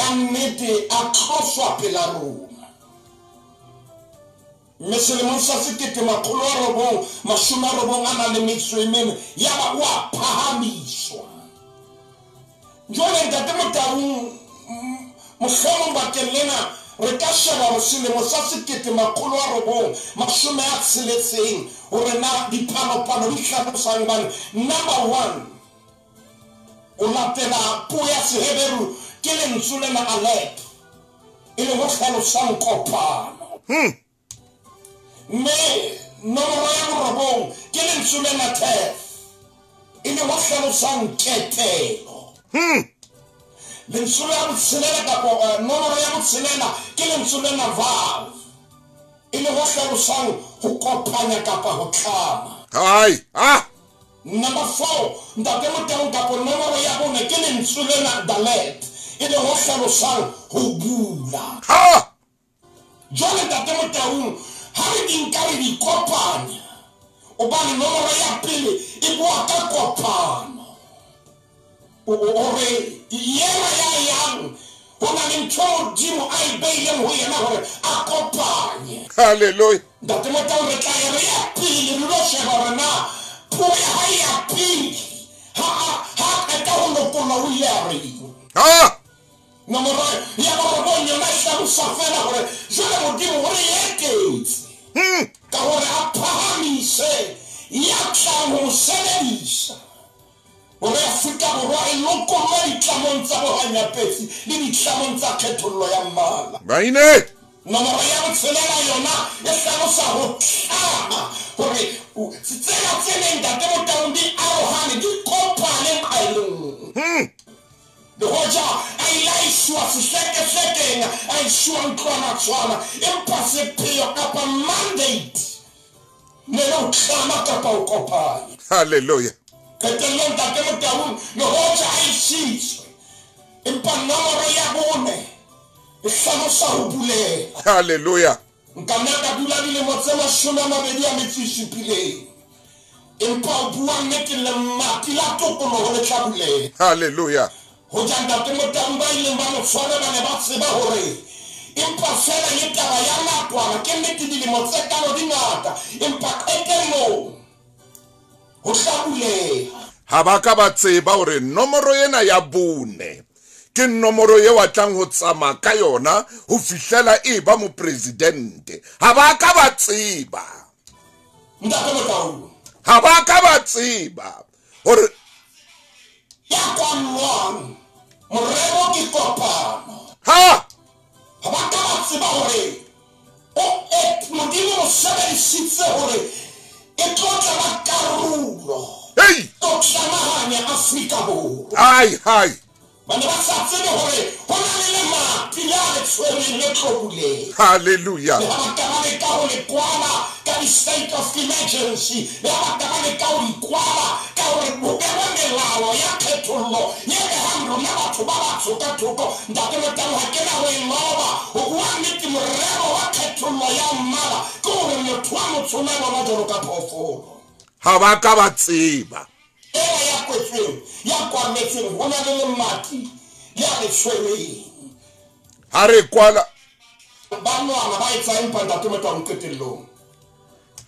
Ka nnete a tloswa pela rona. Mme selemong sa 1994 yaba o a phahamiswa. Jwale Ntate Motaung, mohlomong bakeng lena re ka sheba hore selemo sa 1960 hore na dipalopalo di hlalosang, hobane number 1 o latela puo ya Seheberu ke lentswe lena Aleph, e leng ho hlalosang kopano. Mme nomoro ya 9 ke lentswe lena Tef, e leng ho hlalosang ketelo. Lentswe la botshelela kapa nomoro ya botshelela ke lentswe lena Vav, e leng ho hlalosang ho kopanya kapa ho tlama. Hai, ah. Number 4, Ntate Motaung, kapa nomoro ya 4 ke lentswe lena Dalet, e leng ho hlalosang ho bula. Ha! Jwale Ntate Motaung, ha re di nka re di kopanya, hobane nomoro ya pele e bua ka kopano. Hore yena ya yang ho na le ntho Modimo a e beileng ho yena hore a kopanye. Hallelujah. Ntate Motaung, re tla ya re ya pele re lo sheba hore na puo ya hae ya pele ha a qeta ho lokollwa o ile a reng. Ha! Nomoro ya 9 yona e hlalosa fela hore jwale Modimo o re eketse ka hore a phahamise ya tlang ho sebedisa hore Afrika Borwa e lokollwe ditlamong tsa bohanyapetsi le ditlamong tsa kgethollo ya mmala. Maine! Nomoro ya 6 yona e hlalosa ho tlama hore tsela tse neng Ntate Motaung di arohane di kopane nqalong. Le hoja a ile a iswa sehlekehlekeng, a iswa ntlwanatshwana, empa sepheo kapa mandate ne le ho tlama kapa ho kopanya. Hallelujah. Qetellong Ntate Motaung, le hoja a isitswe, empa nomoro ya 4 e hlalosa ho bulela. Hallelujah. Nka nna ka dula dilemo tse 27, empa ho bua nnete lemati la tokoloho le tla bulela. Hallelujah. Hoja Ntate Motaung ba ileng ba mo tshwara ba ne ba tseba hore empa fela le taba ya nakwana, ke nnete dilemo tse kalo di ngata, empa qetellong ho tla buleha. Ha ba ka ba tseba hore nomoro ena ya 4 ke nomoro eo a tlang ho tsamaya ka yona ho fihlela e ba mopresidente. Ha ba ka ba tseba. Ntate Motaung. Ha ba ka ba tseba hore ya kwallwang morero ke kopano. Ha! Ha ba ka ba tseba hore Modimo o sebedisitse hore e tlo tla ba karolo. Hey! Tlo tlamahanya Afrika Borwa. Hai, hai. Ba ne ba sa tsebe hore ho na le lemati le a le tshwereng le tlo buleha. Hallelujah. Le ha ba ka ba leka ho le kwala ka di-state of emergency, le ha ba ka ba leka ho di kwala ka hore ho behwe melao ya kgethollo ye behang rona batho ba batsho ka thoko. Ntate Motaung, ha ke na ho e loba. Ho bua nnete, morero wa kgethollo ya mmala ke hore motho wa motsho na bona jwalo ka phoofolo. Ha ba ka ba tseba. Ena ya kwetsweng, ya kwametsweng, ho na le lemati le a le tshwereng. Ha re kwala ba nwana ba etsa empa Ntate Motaung qetellong.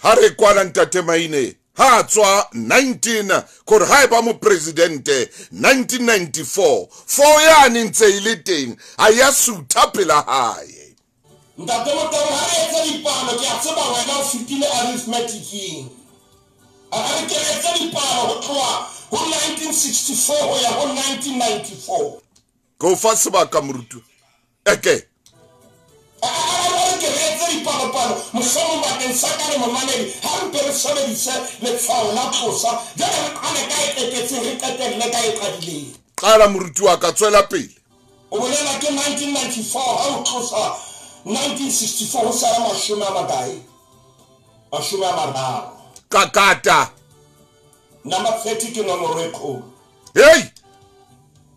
Ha re kwala Ntate Maine, ha tswa 19 kore ha e ba mopresidente 1994, 4 yane ntse e le teng, ha ya sutha pela hae. Ntate Motaung, ha re etse dipalo, ke a tseba wena o fetile arithmetic-eng. A re ke re etse dipalo ho tloha ho 1964 ho ya ho 1994. Ke o fa sebaka moruti. Eke. A re ke re etse dipalopalo, mohlomong bakeng sa ka le momamedi, ha re mpe re sebedise letshwao la tlosa, jwale re qale ka e qetetseng, re qetelle ka e qadileng. Qala moruti wa ka, tswela pele. O bolela ke 1994, ha o tlosa 1964 ho sala mashome a makae? 30. Kakata. Number 30 ke nomoro e kgolo. Hey!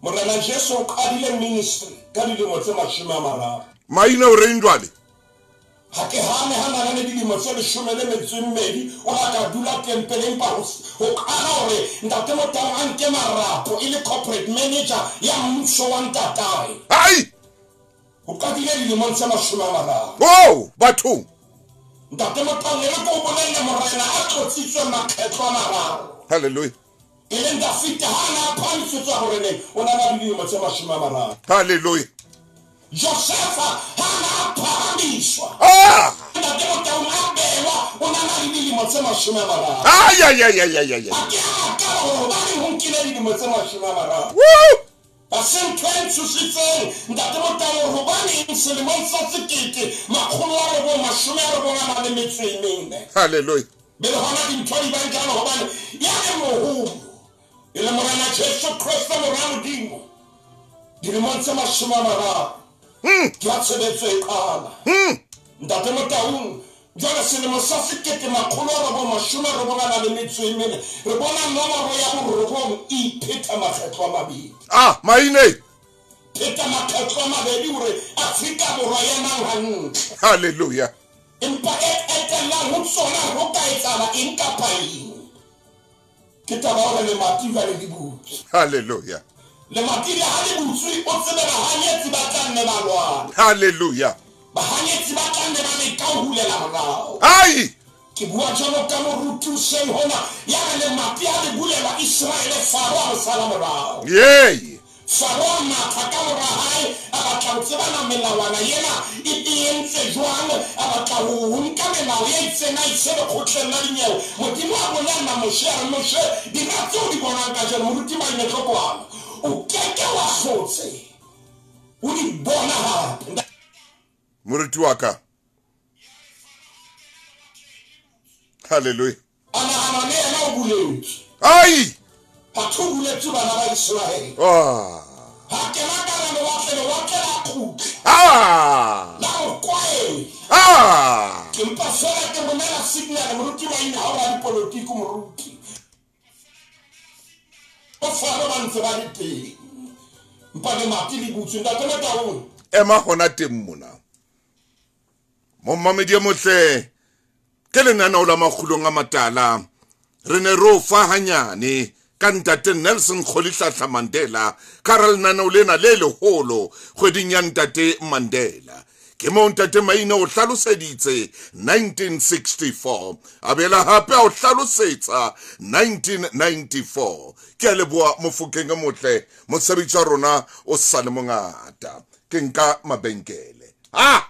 Morena Jesu o qadile ministry ka dilemo tse 30. Maina o reng jwale? Ha ke hane ha nana le dilemo tse 12, o la ka dula tempeleng empa ho qala hore Ntate Motaung a nke marapo e le corporate manager ya mmuso wa ntatae. Hai! O qadile dilemong tse 30. Oh, bathong. Ntate Motaung e re ko bolelle morena a tlotsitswe makgetlo a mararo. Hallelujah. E leng Dafita ha na phamisetswa hore o na le dilemo tse 30. Hallelujah. Josefa ha na phahamiswa. Ah! Ntate Motaung a bewa o na le dilemo tse 30. Ay ay ay ay ay ay. A ke a ka hobane ho nkile dilemo tse 30. Woo! Ba se ntho e ntshositseng ntate Motaung hobaneng selemong sa 1994. Hallelujah. Be le hona dintho di bang jalo hobane ya le moholo e le Morena Jesu Kreste mora Modimo dilemong tse 30 ke a tshebetso e qala. Ntate Motaung jwale selemo sa 1994 re bona nomoro ya borobong e iphetha makgetlo a mabedi. Ah, maine. Pheta makgetlo a mabedi hore Afrika Borwa ya mang hantle. Hallelujah. Empa e etellang ho tsona ho ka etsahala eng kapa eng. Ke taba hore lemati jwale le butswe. Hallelujah. Lemati le ha le butswe o tsebe bahanyetsi ba tla nne ba lwana. Hallelujah. Bahanyetsi ba tla nne ba leka ho hulela morao. Ai! Ke bua jwalo ka moruti hoseng hona ya re lemati ha le bulelwa Israele Faro a sala morao. Yey! Faro a matha ka mora hae a batla ho tsebana melawana ena e entse jwang, a batla ho nka melao e itseng a ise lekgotleng la dinyewe. Modimo a bolella Moshe a re Moshe dira tseo di bonang kajeno moruti Maine Tlokwana o keke wa hlotse o di bona hape. Moruti wa ka. Hallelujah. A nahana le yena o buletswe. Ai! Batho o buletswe bana ba Israele. Ah. Ha kena ka lewatle, lewatle la kgutla. Ah! La o kwaela. Ah! Ke mpa fela ke romela signal moruti Maine ha o ra dipolotiki moruti. O Faro ba ntse ba le teng. Mpa lemati le butswe ntate Motaung. Ema hona teng mona. Momamedi e motle ke lenaneo la Makgulong a Matala re ne re o fa hanyane ka ntate Nelson Rolihlahla Mandela ka ra lenaneo lena le leholo kgweding ya ntate Mandela. Ke moo ntate Maine o hlaloseditse 1964 a bela hape a o hlalosetsa 1994. Ke a leboha Mofokeng e motle mosebetsi wa rona o sa le mongata. Ke nka mabenkele. Ah!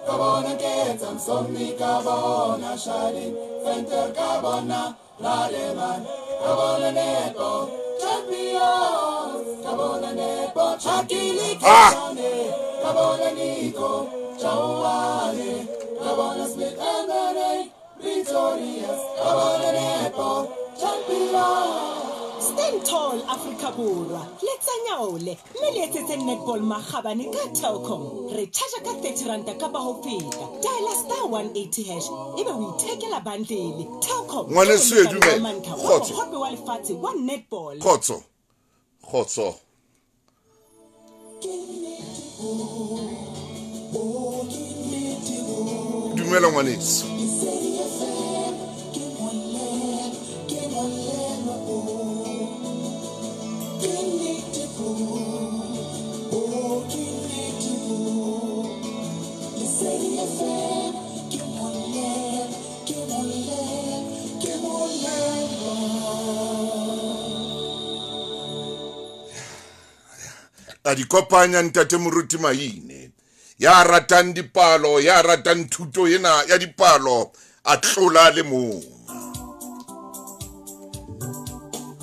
Kabona ketsa msomni kabona shadi fenter kabona lademan kabona nepo champions kabona nepo chakili kone kabona Nico Chauane kabona Smith and the Victorious kabona nepo champions. Stand tall Afrika Borwa letsa nyaole mme le etsetse netball makgabane ka Telkom. Re charge ka 30 ranta kapa ho feta. Dial star 180 hash ebe o ithekela bundle. Telkom ngwaneso e dumela. Kgotso hope wa lefatshe wa netball. Kgotso. Kgotso. Dumela ngwaneso. A di kopanya ntate Moruti Maine ya ratang dipalo, ya ratang thuto ena ya dipalo a tlola le mong.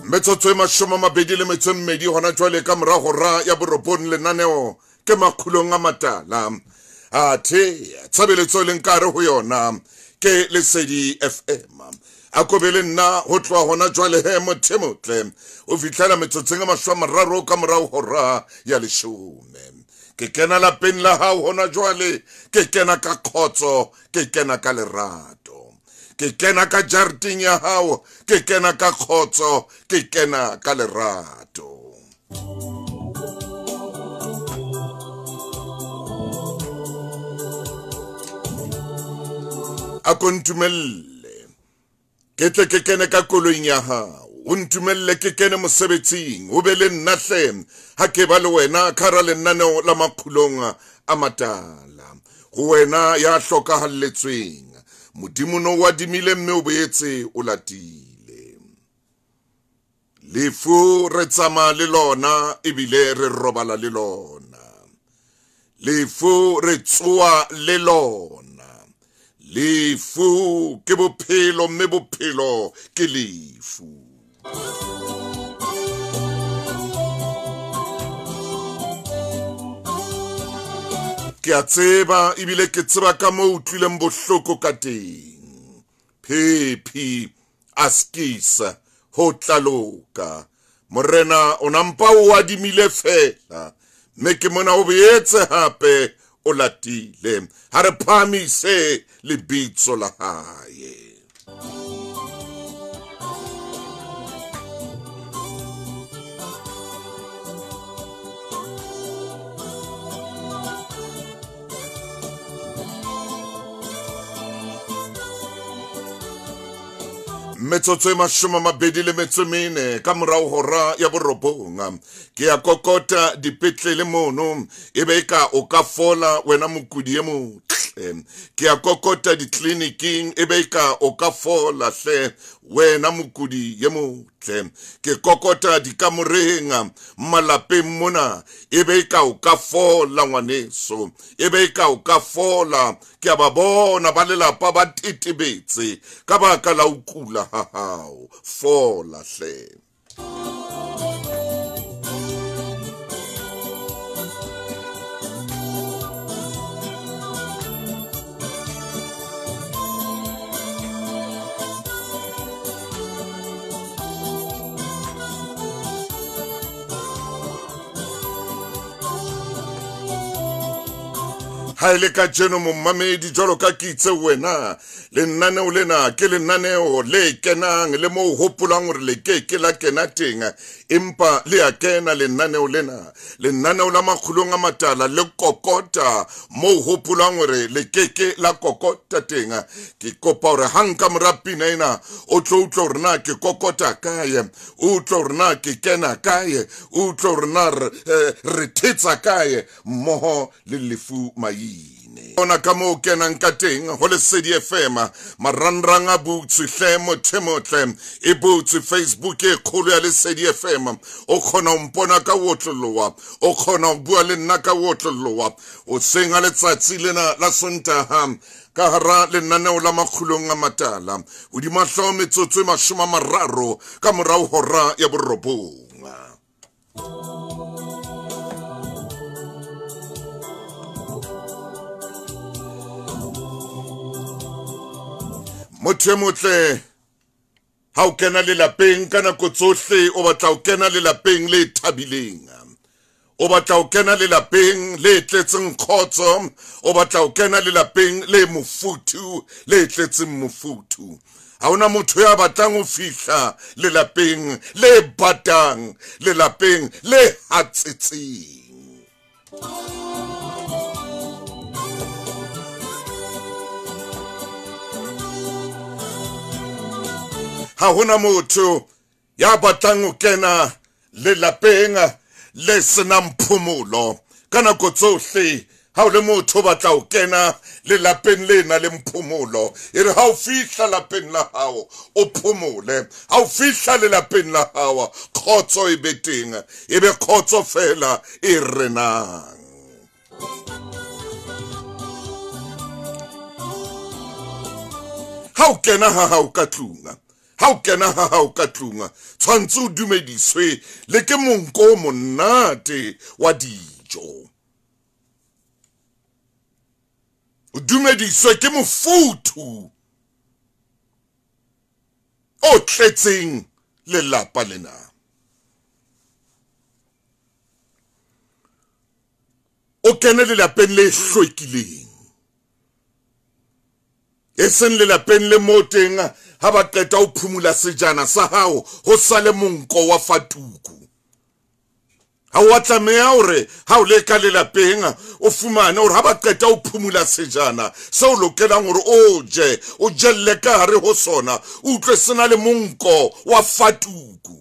Metsotso e 22 hona jwale ka mora hora ya 9 lenaneo ke Makgulong a Matala. Athe tshebeletso e leng ka hare ho yona ke Lesedi FM. A kobele nna ho tloha hona jwale he motho e motle o fihlela metsotsong e 30 ka morao hora ya 10. Ke kena lapeng la hao hona jwale, ke kena ka khotso, ke kena ka lerato. Ke kena ka jareteng ya hao, ke kena ka khotso, ke kena ka lerato. A ko ntumelle ke tle ke kene ka koloing ya hao. O ntumelle ke kene mosebetsing, o be le nna hle ha ke ba le wena ka hara lenaneo la Makgulong a Matala. Ho wena ya hlokahalletsweng, Modimo no o adimile mme o boetse o latile. Lefu re tsamaya le lona ebile re robala le lona. Lefu re tsoa le lona. Lefu ke bophelo mme bophelo ke lefu. Ke a tseba ebile ke tseba ka moo utlwileng bohloko ka teng. Phephi askisa ho tlaloka. Morena o nampa o adimile fela, mme ke mona o boetse hape o latile. Ha re phahamise lebitso la hae. Metsotso e 24 ka morao hora ya 9. Ke ya kokota dipetlele mono, ebe ka o ka fola wena mokudi e motle. Ke ya kokota ditleliniking, ebe ka o ka fola hle wena mokudi e motle. Ke kokota dikamoreng malapeng mona, ebe ka o ka fola ngwaneso, ebe ka o ka fola. Ke a ba bona ba lelapa ba tetebetse ka baka la ho kula ha hao. Fola hle. Ha ile ka jeno momamedi jwalo ka ke itse wena, lenaneo lena ke lenaneo le kenang le mo hopolang hore le ke ke la kena teng, empa le a kena lenaneo lena, lenaneo la Makgulong a Matala le kokota mo hopolang hore le ke ke la kokota teng. Ke kopa hore hang ka mora pina ena o tlo utlwa hore na ke kokota kae, o utlwa hore na ke kena kae, o utlwa hore na re thetsa kae mmoho le Lefu Maine. Ona ka moo kenang ka teng ho Lesedi FM, marangrang a butswe hle motho motle, e butswe Facebook e kgolo ya Lesedi FM. O kgona ho mpona ka otloloha, o kgona ho bua le nna ka otloloha. O seng ha letsatsi lena la Sontaha ka hara lenaneo la Makgulong a Matala, hodima hlooho metsotso e 30 ka morao hora ya 9. Motho e motle, ha o kena lelapeng ka nako tsohle o batla ho kena lelapeng le thabileng, o batla ho kena lelapeng le tletseng kgotso, o batla ho kena lelapeng le mofuthu, le tletseng mofuthu. Ha hona motho ya batlang ho fihla lelapeng le batang, lelapeng le hatsetseng. Ha hona motho ya batlang ho kena lelapeng le senang phomolo. Ka nako tsohle ha o le motho o batla ho kena lelapeng le nang le phomolo, e re ha o fihla lapeng la hao o phomole, ha o fihla lelapeng la hao kgotso e be teng, e be kgotso fela e renang. Ha o kena ha hao ka tlung, ha o kena ha hao ka tlung, tshwantse o dumediswe le ke monko o monate wa dijo, o dumediswe ke mofuthu o tletseng lelapa lena. O kene lelapeng le hlwekileng, e seng lelapeng le mo teng ha ba qeta ho phumula sejana sa hao ho sale monko wa fatuku. Ha o a tlameha hore ha o le ka lelapeng o fumane hore ha ba qeta ho phumula sejana seo o lokelang hore o je, o jelle ka hare ho sona, o utlwe se na le monko wa fatuku.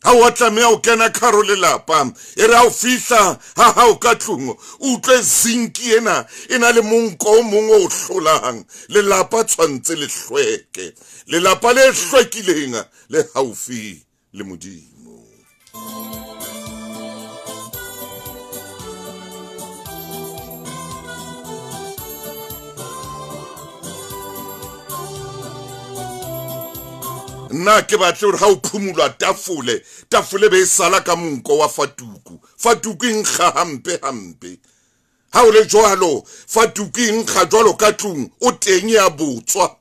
Ha o a tlameha ho kena ka hare ho lelapa, e re ha o fihla ha hao ka tlung, o utlwe zinki ena e na le monko o mong o hlolang. Lelapa tshwantse le hlweke. Lelapa le hlwekileng le haufi le Modimo. Nna ke batle hore ha o phumulwa tafole, tafole be e sala ka monko wa fatuku. Fatuku e nkga hampe hampe. Ha o le jwalo, fatuku e nkga jwalo ka tlung, o teng ya botswa.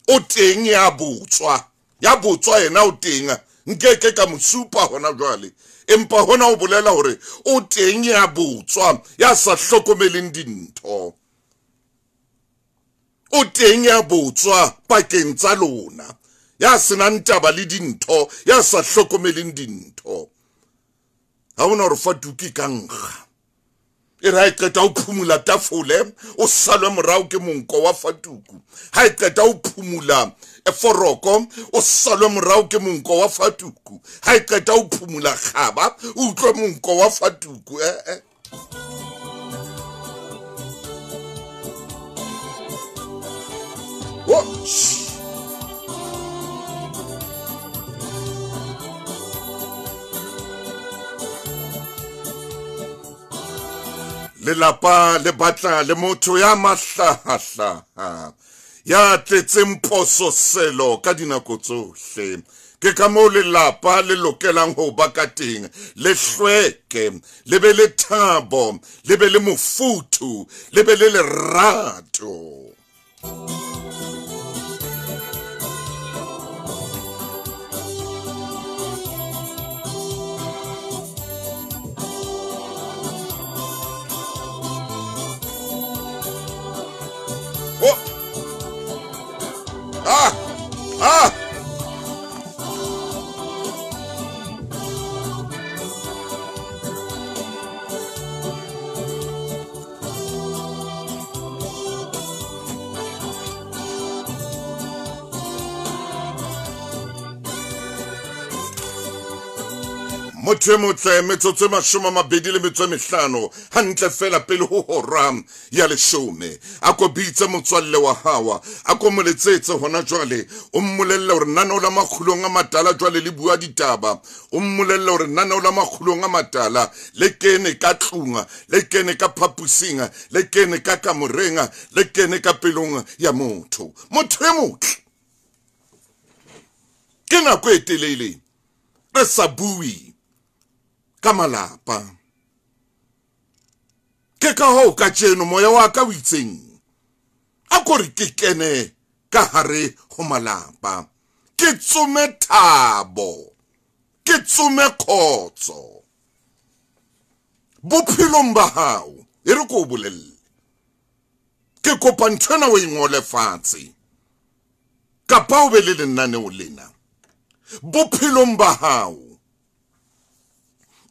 O teng ya botswa. Ya botswa yena o teng. Nkeke ka mo supa hona jwale. Empa hona o bolela hore o teng ya botswa, ya sa hlokomeleng dintho. O teng ya botswa pakeng tsa lona. Ya senang taba le dintho, ya sa hlokomeleng dintho. Ha hona hore fatuku ka nkga. E re ha e qeta ho phumula tafole, o salwe morao ke monko wa fatuku. Ha e qeta ho phumula foroko, o salwe morao ke monko wa fatuku. Ha e qeta ho phumula kgaba, o utlwe monko wa fatuku. Oh, lelapa le batla le motho ya mahlahahlaha, ya tletseng pososelo ka dinako tsohle. Ke ka moo lelapa le lokelang ho ba ka teng, le hlweke, le be le thabo, le be le mofuthu, le be le lerato. Oh. Ah. Ah. Motho e motle, metsotso e 25 hantle fela pele ho hora ya 10. A ko bitse motswalle wa hao, a ko mo letsetse hona jwale, o mmolelle hore naneo la Makgulong a Matala jwale le bua ditaba. O mmolelle hore naneo la Makgulong a Matala le kene ka tlung, le kene ka phapusing, le kene ka kamoreng, le kene ka pelong ya motho. Motho e motle, ke nako e telele re sa bue ka malapa. Ke ka hoo kajeno moya wa ka o itseng a ko re ke kene ka hare ho malapa, ke tsome thabo, ke tsome khotso bophelong ba hao. E re ko o bolelle, ke kopa nthwena o e ngole fatshe kapa o be le lenaneo lena. Bophelong ba hao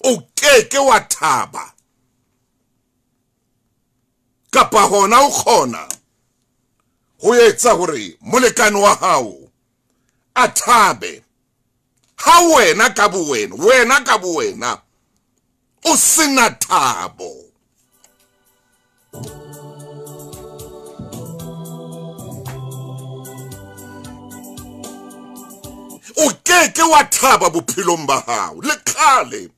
o keke wa thaba kapa hona o kgona ho etsa hore molekane wa hao a thabe ha wena ka bowena, wena ka bowena o sena thabo. O keke wa thaba bophelong ba hao le kgale.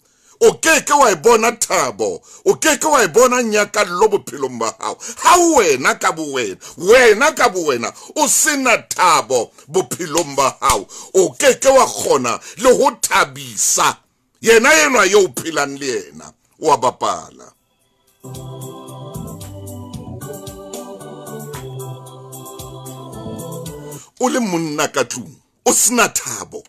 O keke wa e bona thabo, o keke wa e bona nyakallo bophelong ba hao ha wena ka bowena, wena ka bowena o sena thabo bophelong ba hao. O keke wa kgona le ho thabisa yena enwa eo o phelang le yena, o a bapala. O le monna ka tlung o sena thabo,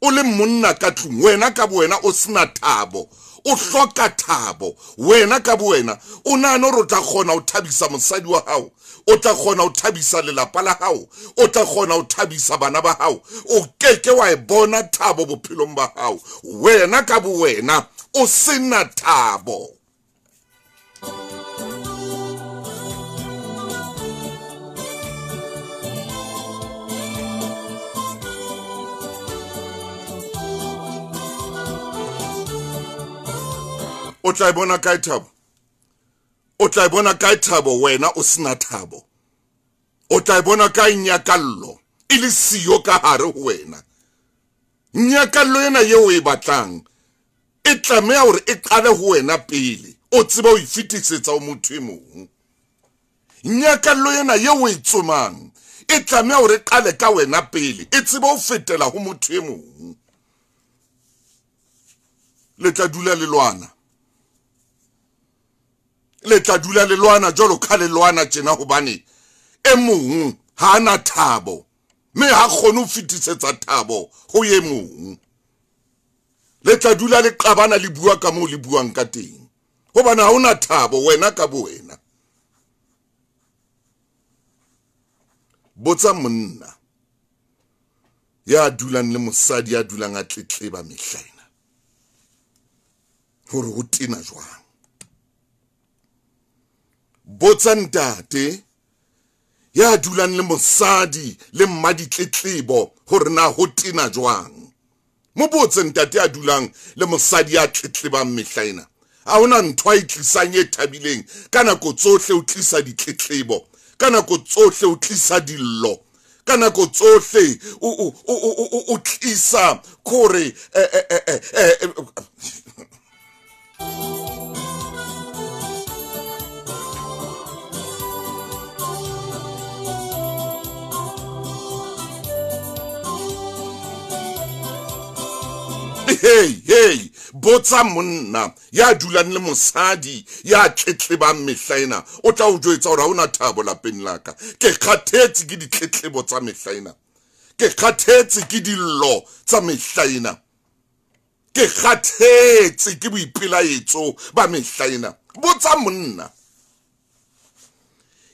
o le monna ka tlung, wena ka bowena o sena thabo, O hloka thabo. Wena ka bowena o nahana hore o tla kgona ho thabisa mosadi wa hao, o tla kgona ho thabisa lelapa la hao, o tla kgona ho thabisa bana ba hao. O keke wa e bona thabo bophelong ba hao. Wena ka bowena o sena thabo. O tla e bona kae thabo? O tla e bona kae thabo wena o sena thabo? O tla e bona kae nyakallo e le siyo ka hare ho wena? Nyakallo ena eo o e batlang e tlameha hore e qale ho wena pele o tsebe ho e fetisetsa ho motho e mong. Nyakallo ena eo o e tsomang e tlameha hore e qale ka wena pele e tsebe ho fetela ho motho e mong. Le tla dula le lwana. Le tla dula le lwana jwalo ka le lwana tjena hobane e mong ha ana thabo mme ha kgone ho fetisetsa thabo ho e mong. Le tla dula le qabana le bua ka moo le buang ka teng hobane ha ona thabo wena ka bowena. Botsa monna ya dulang le mosadi ya dulang a tletleba mehla ena hore ho tena jwang. Botsa ntate ya dulang le mosadi le mmaditletlebo hore na ho tena jwang. Mo botse ntate ya dulang le mosadi ya tletlebang mehla ena. Ha hona ntho a e tlisang e thabileng. Ka nako tsohle o tlisa ditletlebo, ka nako tsohle o tlisa dillo, ka nako tsohle o tlisa kore hey hey, botsa monna ya dulang le mosadi ya tletlebang mehla ena. O tla o jwetsa hore ha ona thabo lapeng la ka. Ke kgathetse ke ditletlebo tsa mehla ena, ke kgathetse ke dillo tsa mehla ena, ke kgathetse ke boipelaetso ba mehla ena. Botsa monna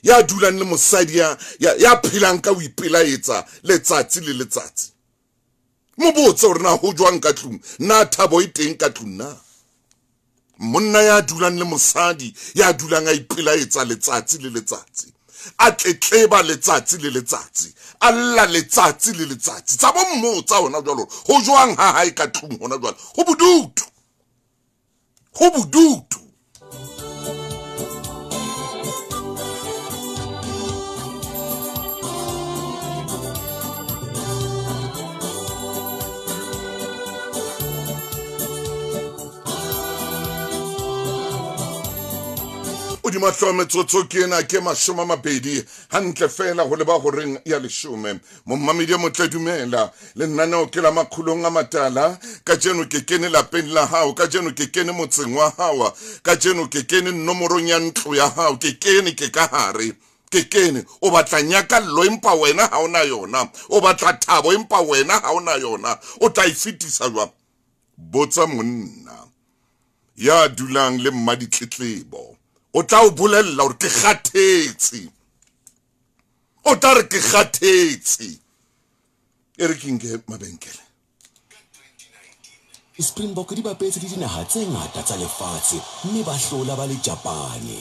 ya dulang le mosadi ya phelang ka ho ipelaetsa letsatsi le letsatsi. Mo botse hore na ho jwang ka tlung, na thabo e teng ka tlung na. Monna ya dulang le mosadi ya dulang a ipelaetsa letsatsi le letsatsi, a tletleba letsatsi le letsatsi, a lla letsatsi le letsatsi. Tsa bo mmotsa hona jwalo ho jwang ha hae ka tlung hona jwalo. Ho bodutu, ho bodutu. Hodima metsotso ke ena ke 20 hantle fela ho leba horeng ya 10. Mommamedi motle dumela lenaneo ke la Makgulong a Matala. Kajeno ke kene lapeng la hao, kajeno ke kene motseng wa hao, kajeno ke kene nomorong ya ntlo ya hao, ke kene ke ka hare. Ke kene o batla nyakallo empa wena ha ona yona, o batla thabo empa wena ha ona yona. O tla e fetisa jwang? Botsa monna ya dulang le mmaditletlebo. O tla o bolella hore ke kgathetse. O tla re ke kgathetse. E re ke nke mabenkele. Springbok di bapetse le dinaha tse ngata tsa lefatshe mme ba hlola ba le Japane.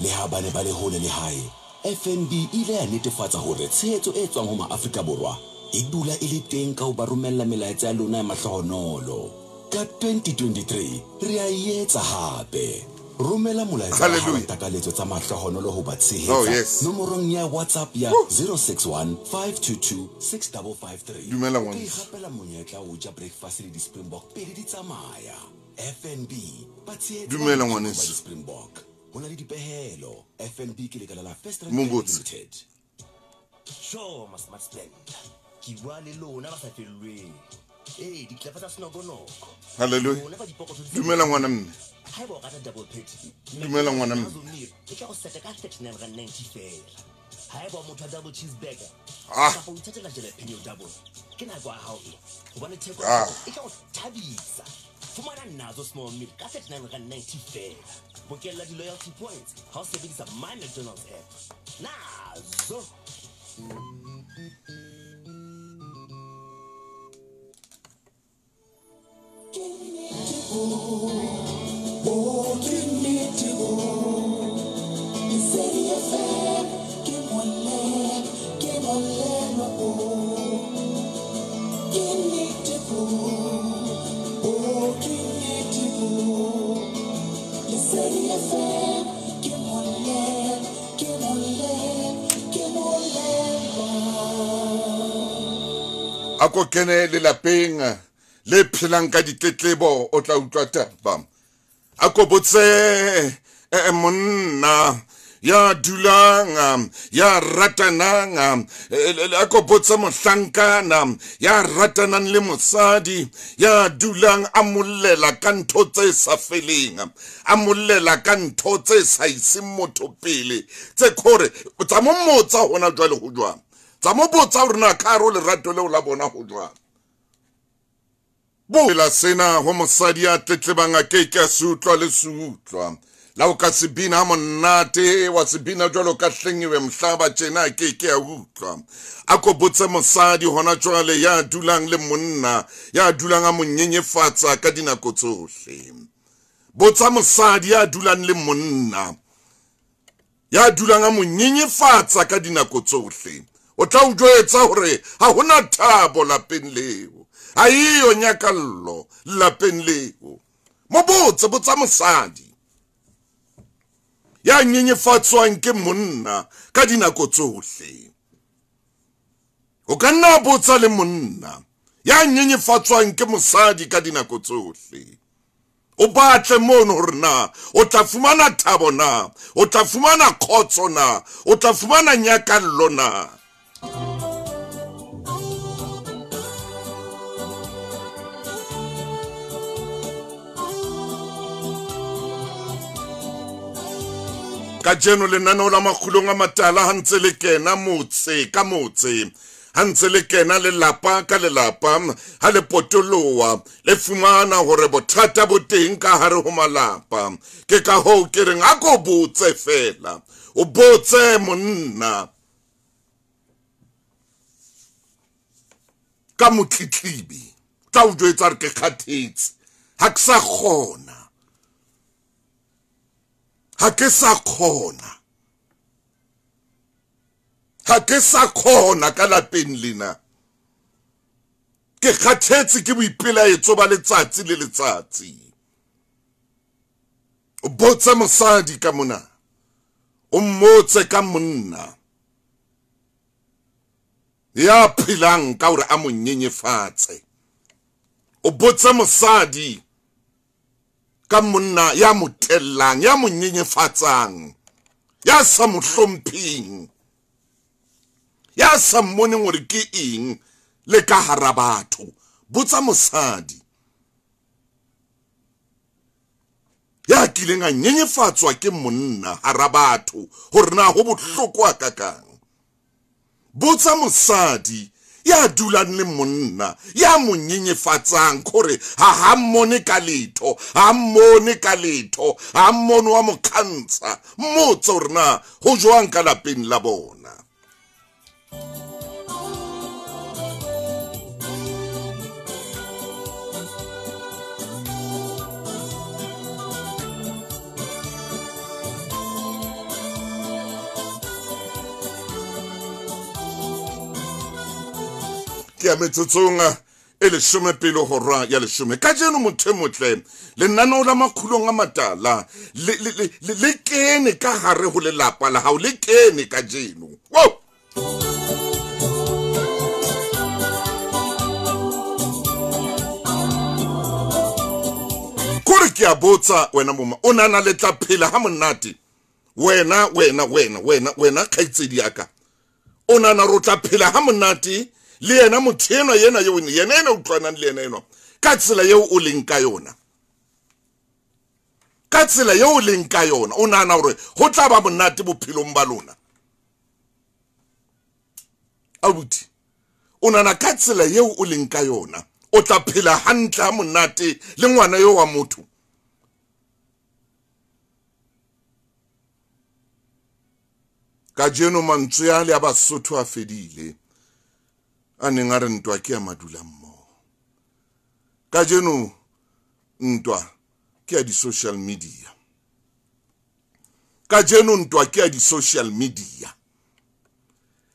Le ha ba ne ba le hole le hae, FNB e ile ya netefatsa hore tshehetso e tswang ho maAfrika Borwa e dula e le teng ka ho ba romella melaetsa ya lona ya mahlohonolo. Ka 2023 re a e etsa hape. Romela molaetsa wa takaletso tsa mahlohonolo ho ba tshehetsa nomorong ya WhatsApp ya 061 522 6553. Dumela ngwana. Ke gapela monyetla o ja breakfast le di Springbok pele di tsamaya. FNB ba tshehetsa. Dumela ngwaneso. Springbok. Ho na le dipehelo. FNB ke lekala la First Rand Limited. Sure, Smart Spend. Ke bua le lona ba sa fellweng. Eh, ditlapa tsa senokonoko. Hallelujah. Dumela ngwana mme. Haeba o rata double patty. Dumela ngwana mme. E tla go seta ka R39.90 fela. Haeba o motho wa double cheeseburger. Kapa o ithatela jalapeno double. Ke nako ya hao e. Hobane theko e tla go thabisa. Fumana Nazo small meal ka R39.90 feela. Bokella di-loyalty points ha o sebedisa My McDonald's app. Nazo. A ko kene lelapeng le phelang ka ditletlebo, o tla utlwa taba. A ko botse monna ya dulang ya ratanang, a ko botse mohlankana ya ratanang le mosadi ya dulang a mollela ka ntho tse sa feleng, a mollela ka ntho tse sa iseng motho pele, tse khore tsa mo mmotsa hona jwale ho jwang, tsa mo botsa hore na ka hare ho lerato leo la bona ho jwang. Boela sena ho mosadi ya tletlebang a ke ke a se utlwa le se utlwa. La o ka se bina monate wa se bina jwalo ka hlengiwe mhlaba tjena ke ke a utlwa. A ko botse mosadi hona jwale ya dulang le monna ya dulang a mo nyenyefatsa ka dinako tsohle. Botsa mosadi ya dulang le monna ya dulang a mo nyenyefatsa ka dinako tsohle. O tla o jwetsa hore ha hona thabo lapeng leo, ha eyo nyakallo lapeng leo. Mo botse, botsa mosadi ya nyenyefatswang ke monna ka dinako tsohle. O ka nna botsa le monna ya nyenyefatswang ke mosadi ka dinako tsohle. O batle mono hore na o tla fumana thabo na, o tla fumana kgotso na, o tla fumana nyakallo na. Kajeno lenaneo la Makgulong a Matala ha ntse le kena motse ka motse, ha ntse le kena lelapa ka lelapa, ha le potoloha le fumana hore bothata bo teng ka hare ho malapa. Ke ka hoo ke reng a ko botse fela, o botse monna ka motletlebi, tla o jwetsa re ke kgathetse, ha ke sa kgona. Ha ke sa kgona, ha ke sa kgona ka lapeng lena. Ke kgathetse ke boipelaetso ba letsatsi le letsatsi. O botse mosadi ka mona, o mmotse ka monna ya phelang ka hore a mo nyenyefatse. O botse mosadi ka monna ya mo tellang, ya mo nyenyefatsang, ya sa mo hlompheng, ya sa mmoneng hore ke eng le ka hara batho. Botsa mosadi ya kileng a nyenyefatswa ke monna hara batho hore na ho bohloko hakakang. Botsa mosadi ya dulang le monna ya mo nyenyefatsang hore ha mmone ka letho, ha mmone ka letho, ha mmone wa mo kgantsha. Mmotse hore na ho jwang ka lapeng la bona. Ke ya metsotsong e 9:50. Kajeno motho e motle, lenaneo la Makgulong a Matala le kene ka hare ho lelapa la hao, le kene kajeno. Wow! Kore ke a botsa wena moma, o nana le tla phela ha monate. Wena wena wena wena wena kgaitsedi ya ka, o nana ro tla phela ha monate le yena motho enwa yena eo yena ena utlwanang le yena enwa ka tsela eo o leng ka yona, ka tsela eo o leng ka yona, o nahana hore ho tla ba monate bophelong ba lona? Abuti, o nahana ka tsela eo o leng ka yona, O tla phela hantle ha monate le ngwana yo wa motho. Kajeno mantswe a le a Basotho a fedile, a neng a re ntwa ke ya madula mmoho. Kajeno ntwa ke ya di-social media. Kajeno ntwa ke ya di-social media.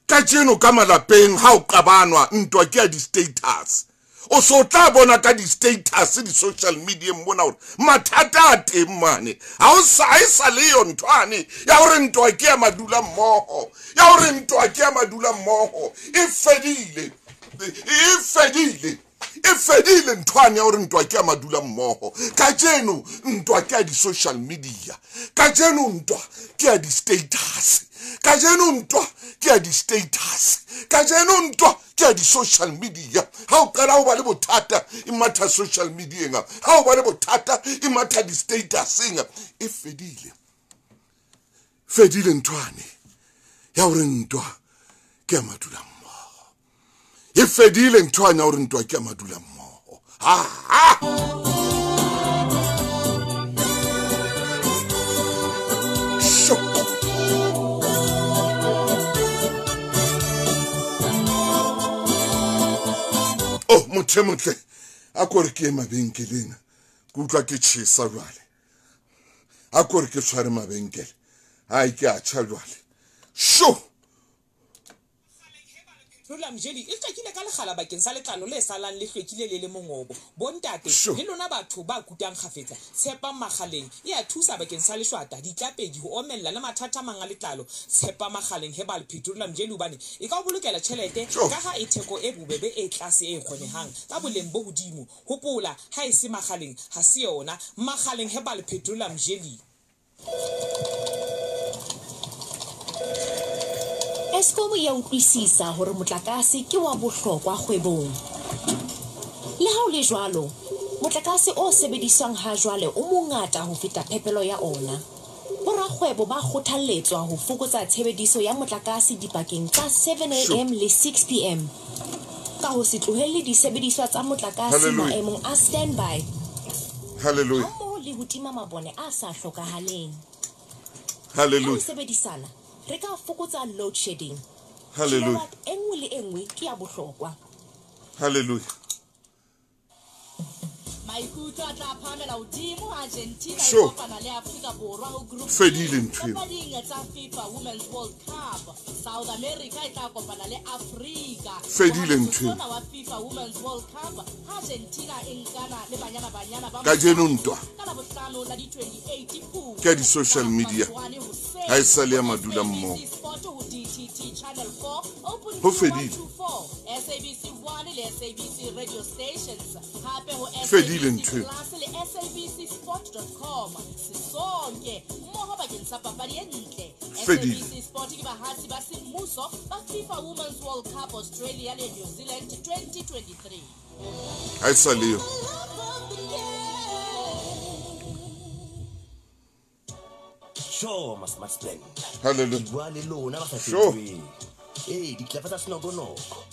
Kajeno ka malapeng ha o qabanwa ntwa ke ya di-status. O so tla bona ka di-status di-social media mona hore mathata a teng mane. Ha o sa e sa le yo nthwane ya hore ntwa ke ya madula mmoho, ya hore ntwa ke ya madula mmoho. E fedile, e fedile, e fedile nthwane ya hore ntwa ke ya madula mmoho. Kajeno ntwa ke ya di-social media. Kajeno ntwa ke ya di-status. Kajeno ntwa ke ya di-status. Kajeno ntwa ke ya di-social media. Ha o qala ho ba le bothata e matha social media, ha o ba le bothata e matha di-statuseng. E fedile, fedile nthwane ya hore ntwa ke ya madula mmoho. E fedile nthwane ya hore ntwa ke ya madula mmoho. Ha ha. Oh, motho motle a ko re ke ye mabenkeleng, ke utlwa ke tjhesa jwale. A ko re ke tshware mabenkele, hai ke a tjha jwale. Sho! Petroleum jelly e hlwekile ka lekgala bakeng sa letlalo le salang le hlwekile le le mongobo. Bontate le lona batho ba kutang kgafetsa, tshepang Makgaleng e a thusa bakeng sa leshwata, ditlapedi, ho omella le mathata a mang a letlalo. Tshepa Makgaleng Herbal Petroleum Jelly hobane e ka o bolokela tjhelete ka ha e theko e bobebe e tlase e kgonehang ka boleng bo hodimo. Hopola, ha e se Makgaleng ha se yona. Makgaleng Herbal Petroleum Jelly. Eskom ya utlwisisa hore motlakase ke wa bohlokwa kgwebong. Le ha o le jwalo, motlakase o sebediswang ha jwale o mongata ho feta phepelo ya ona. Borakgwebo ba kgothalletswa ho fokotsa tshebediso ya motlakase dipakeng tsa 7 a.m. le 6 p.m. ka ho se tlohelle disebediswa tsa motlakase maemong a standby. Hallelujah. Hammoho le ho tima mabone a sa hlokahaleng. Hallelujah. Ha sebedisana re ka fokotsa load shedding. Hallelujah. E nngwe le e nngwe ke ya bohlokwa. Hallelujah. Maikutlo a tla phahamela hodimo Argentina e kopana le Afrika Borwa ho group fedile ntho eo. Papading tsa FIFA Women's World Cup, South America e tla kopana le Afrika. Fedile ntho eo. Wa FIFA Women's World Cup, Argentina e nkana le Banyana Banyana ba kajeno ntwa ka Labohlano la di 28 Phupjane ke ya di-social media ha e sa le ya madula mmoho. Sport ho DTT Channel 4, Open Ho fedile. 224, SABC 1 le SABC radio stations. Hape ho Fedile ntho eo. Plus le SABCsport.com. Sisonke mmoho bakeng sa papadi e ntle. Fedile. SABC Sport ke bahatsi ba semmuso ba FIFA Women's World Cup Australia le New Zealand 2023. Ha e sa le yo. Sure, ma smart spend. Hallelujah. Ke bua le lona ba sa Sure. fetoheng. Ee, ditlapa tsa senokonoko.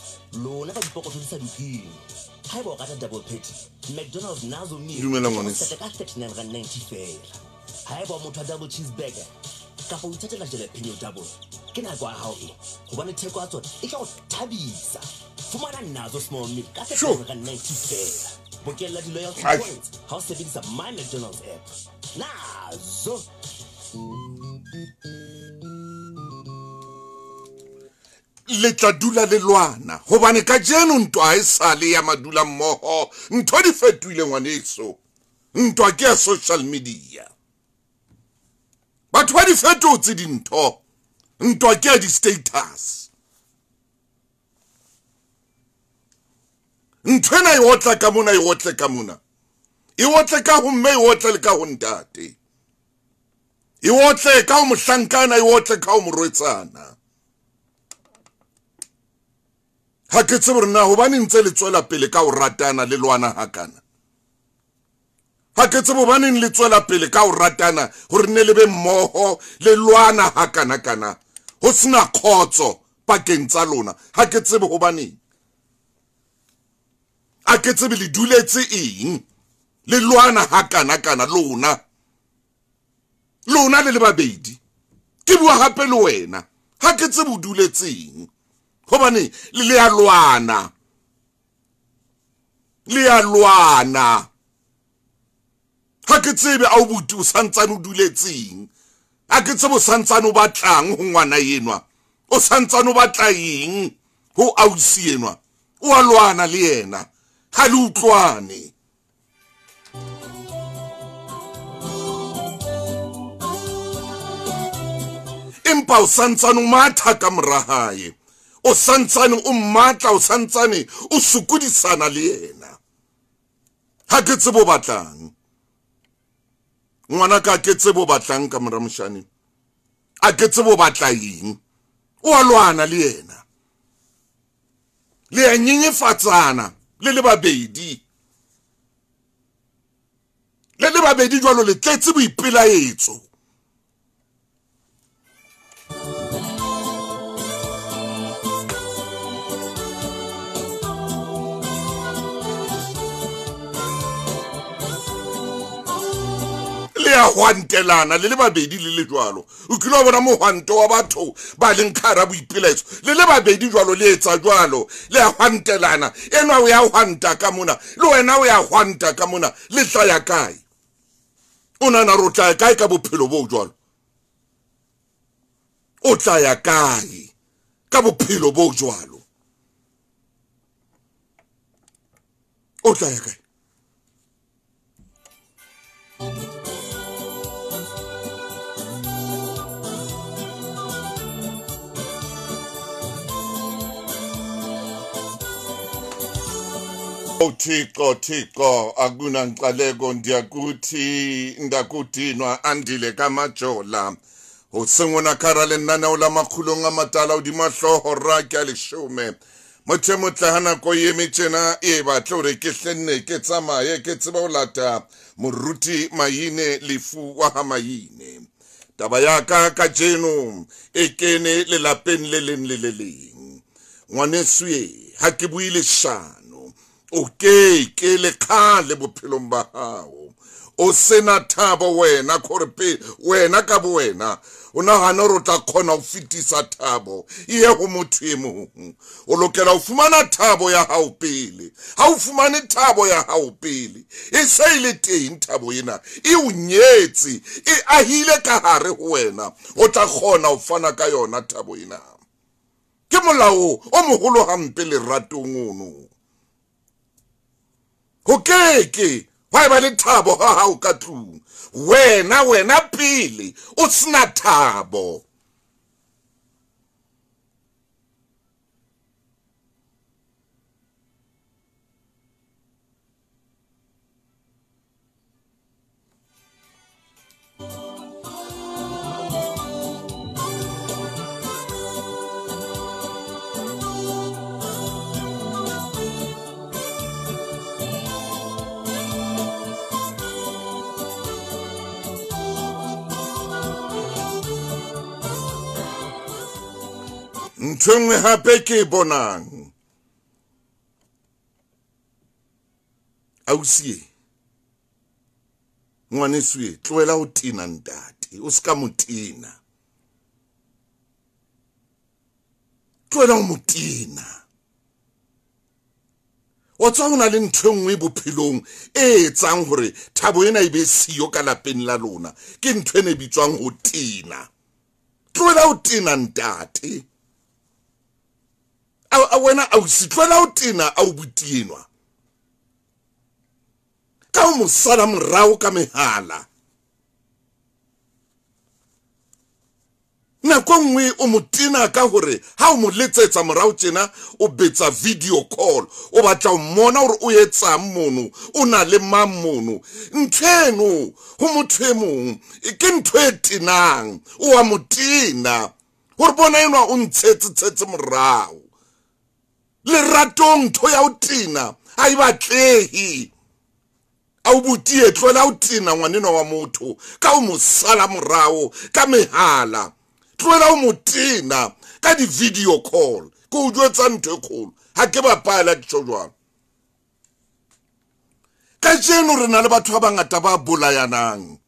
Lona ka dipokotho di sa dukeng. Haeba o rata double patty, McDonald's Nazo meal. Dumela ngwaneso. Ka R39.90 feela. Haeba o motho wa double cheeseburger, kapa o ithatela jalapeno double, ke nako ya hao e. Hobane theko ya tsona e tla o thabisa. Fumana Nazo small meal ka Sure. R39.90 feela. Bokella di-loyalty Ai. points ha o sebedisa My McDonald's app. Nazo. Le tla dula le lwana hobane kajeno ntwa ha e sale ya madula mmoho. Ntho di fetohile ngwaneso. Ntwa ke ya social media. Batho ba di fetotse dintho. Ntwa ke ya di-status. Ntho ena e otla ka mona, e otle ka mona. E otle ka ho mme, e otle le ka ho ntate. E otle ka ho mohlankana, e otle ka ho morwetsana. Ha ke tsebe hore na hobane ntse le tswela pele ka ho ratana le lwana hakana. Ha ke tsebe hobaneng le tswela pele ka ho ratana hore ne le be mmoho le lwana hakana kana. Ho sena kgotso pakeng tsa lona. Ha ke tsebe hobaneng. A ke tsebe le duletse eng, le lwana hakana-kana lona. Lona le le babedi. Ke bua hape le wena. Ha ke tsebe o duletseng. Hobane le a lwana. Le a lwana. Ha ke tsebe a o buti o santsane o duletseng. Ha ke tsebe o santsane o batlang ho ngwana enwa. O santsane o batla eng ho ausi enwa. O a lwana le yena. Ha le utlwane. Empa o santsane o matha ka mora hae. O santsane o mmatla, o santsane o sokodisana le yena. Ha ke tsebe o batlang. Ngwana ka ke tsebe o batlang ka mora moshane. A ke tsebe o batla eng. O a lwana le yena. Le a nyenyefatsana le le babedi. Le le babedi jwalo le tletse boipelaetso. Le a hwantelana le le babedi le le jwalo. O kile wa bona mohwanto wa batho ba leng ka hara boipelaetso. Le le babedi jwalo le etsa jwalo. Le a hwantelana. Enwa o ya hwanta ka mona. Le wena o ya hwanta ka mona. Le tla ya kae? O nahana hore o tla ya kae ka bophelo bo jwalo? O tla ya kae ka bophelo bo jwalo? O tla ya kae? Thixo Thixo akunanqaleko ndiyakuthi ndakudinwa andile kamajola ho sengona kara le nna o la makgulong a matala o dimahloho ra ke a leshome motho motla hana ko eme tjena e batla hore ke hlenne ke tsamaye ke tseba ho lata moruti Maine lefu wa ha Maine. Taba ya ka kajeno e kene lelapeng le leng le le leng. Ngwaneso e ha ke bue leshano. O ke ke le khale bophelong ba hao. O sena thabo wena khore wena ka bo wena. O nahana hore o tla kgona ho fetisa thabo e ye ho motho e mong. O lokela ho fumana thabo ya hao pele. Ha o fumane thabo ya hao pele, e se e le teng thabo ena, e o nyetse, e ahile ka hare ho wena. O tla kgona ho fana ka yona thabo ena. Ke molao o moholo hampe leratong ono. Ho keke wa eba le thabo ha hao ka tlung. Wena wena pele o sena thabo. Ntho e nngwe hape ke e bonang. Ausi, ngwaneso e, tlohela ho tena ntate, o ska mo tena. Tlohela ho mo tena. Wa tswa ho na le ntho e nngwe bophelong e etsang hore thabo ena e be siyo ka lapeng la lona. Ke ntho ena e bitswang ho tena. Tlohela ho tena ntate. A wena ausi, tlohela ho tena a o botienwa. Ka o mo sala morao ka mehala. Nako e nngwe o mo tena ka hore ha o mo letsetsa morao tjena o betsa video call. O batla ho mmona hore o etsang mono, o na le mang mono. Ntho eno ho motho e mong ke ntho e tenang, o a mo tena. Hore bona enwa o ntshetse tshetse morao. Leratong ntho ya ho tena ha e batlehe. A o butie tlohela ho tena ngwanenwa wa motho ka o mo sala morao ka mehala. Tlohela ho mo tena ka di-video call. Ke o jwetsa ntho e kgolo. Ha ke bapala ke tjho jwalo. Kajeno re na le batho ba bangata ba bolayanang.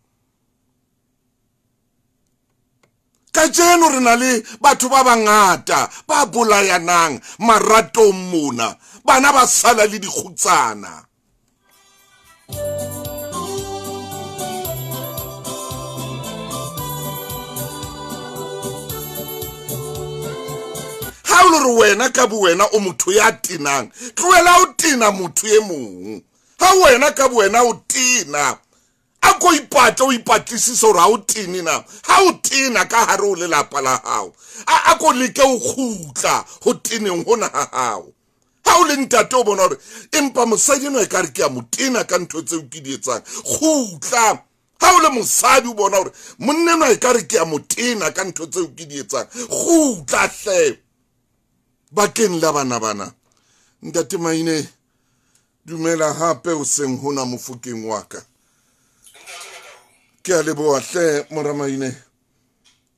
Kajeno re na le batho ba bangata ba bolayanang maratong mona. Bana ba sala le dikgutsana. Ha o le re wena ka bowena o motho ya tenang, tlohela o tena motho e mong. Ha wena ka bowena o tena, a ko ipatle o ipatlisise hore ha o tene na. Ha o tena ka hare ho lelapa la hao, a ko leke o kgutla ho teneng hona ha hao. Ha o le ntate o bona hore empa mosadi enwa ekare ke a mo tena ka ntho tseo ke di etsang, kgutla. Ha o le mosadi o bona hore monna enwa ekare ke a mo tena ka ntho tseo ke di etsang, kgutla hle. Bakeng la bana bana. Ntate Maine, dumela hape o seng hona mofokeng wa ka. Ke a leboha hle mora Maine,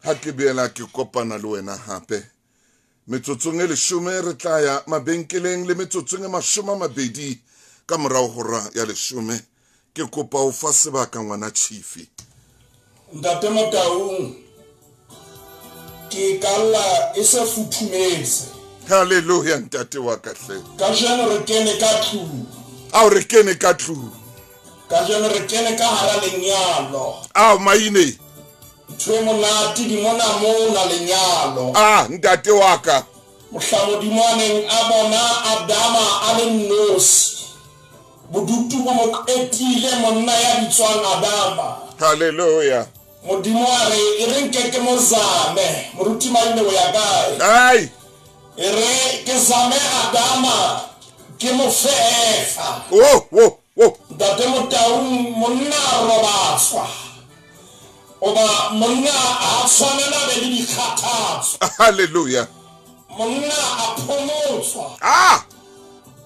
ha ke boela ke kopana le wena hape. Metsotsong e 10 re tla ya mabenkeleng le metsotsong e 20 ka morao hora ya 10. Ke kopa o fa sebaka ngwana Chifi. Ntate Motaung, ke kalla e se futhumetse. Hallelujah ntate wa ka hle. Kajeno re kene ka tlung. Ao re kene ka tlung. Kajeno re kene ka hara lenyalo. Ao Maine. Ntho e monate di mona mona lenyalo. Ah ntate wa ka. Mohla Modimo a neng a bona Adama a le nnosi, bodutu bo mo qetile monna ya bitswang Adama. Hallelujah. Modimo a re e re nke ke mo zame. Moruti Maine o ya kae? Ai. E re ke zame Adama ke mo fefa. Oh oh oh. Ntate Motaung, monna a robatswa. Oba monna a tshwanela be le dikgathatso. Hallelujah. Monna a phomotswa. Ah.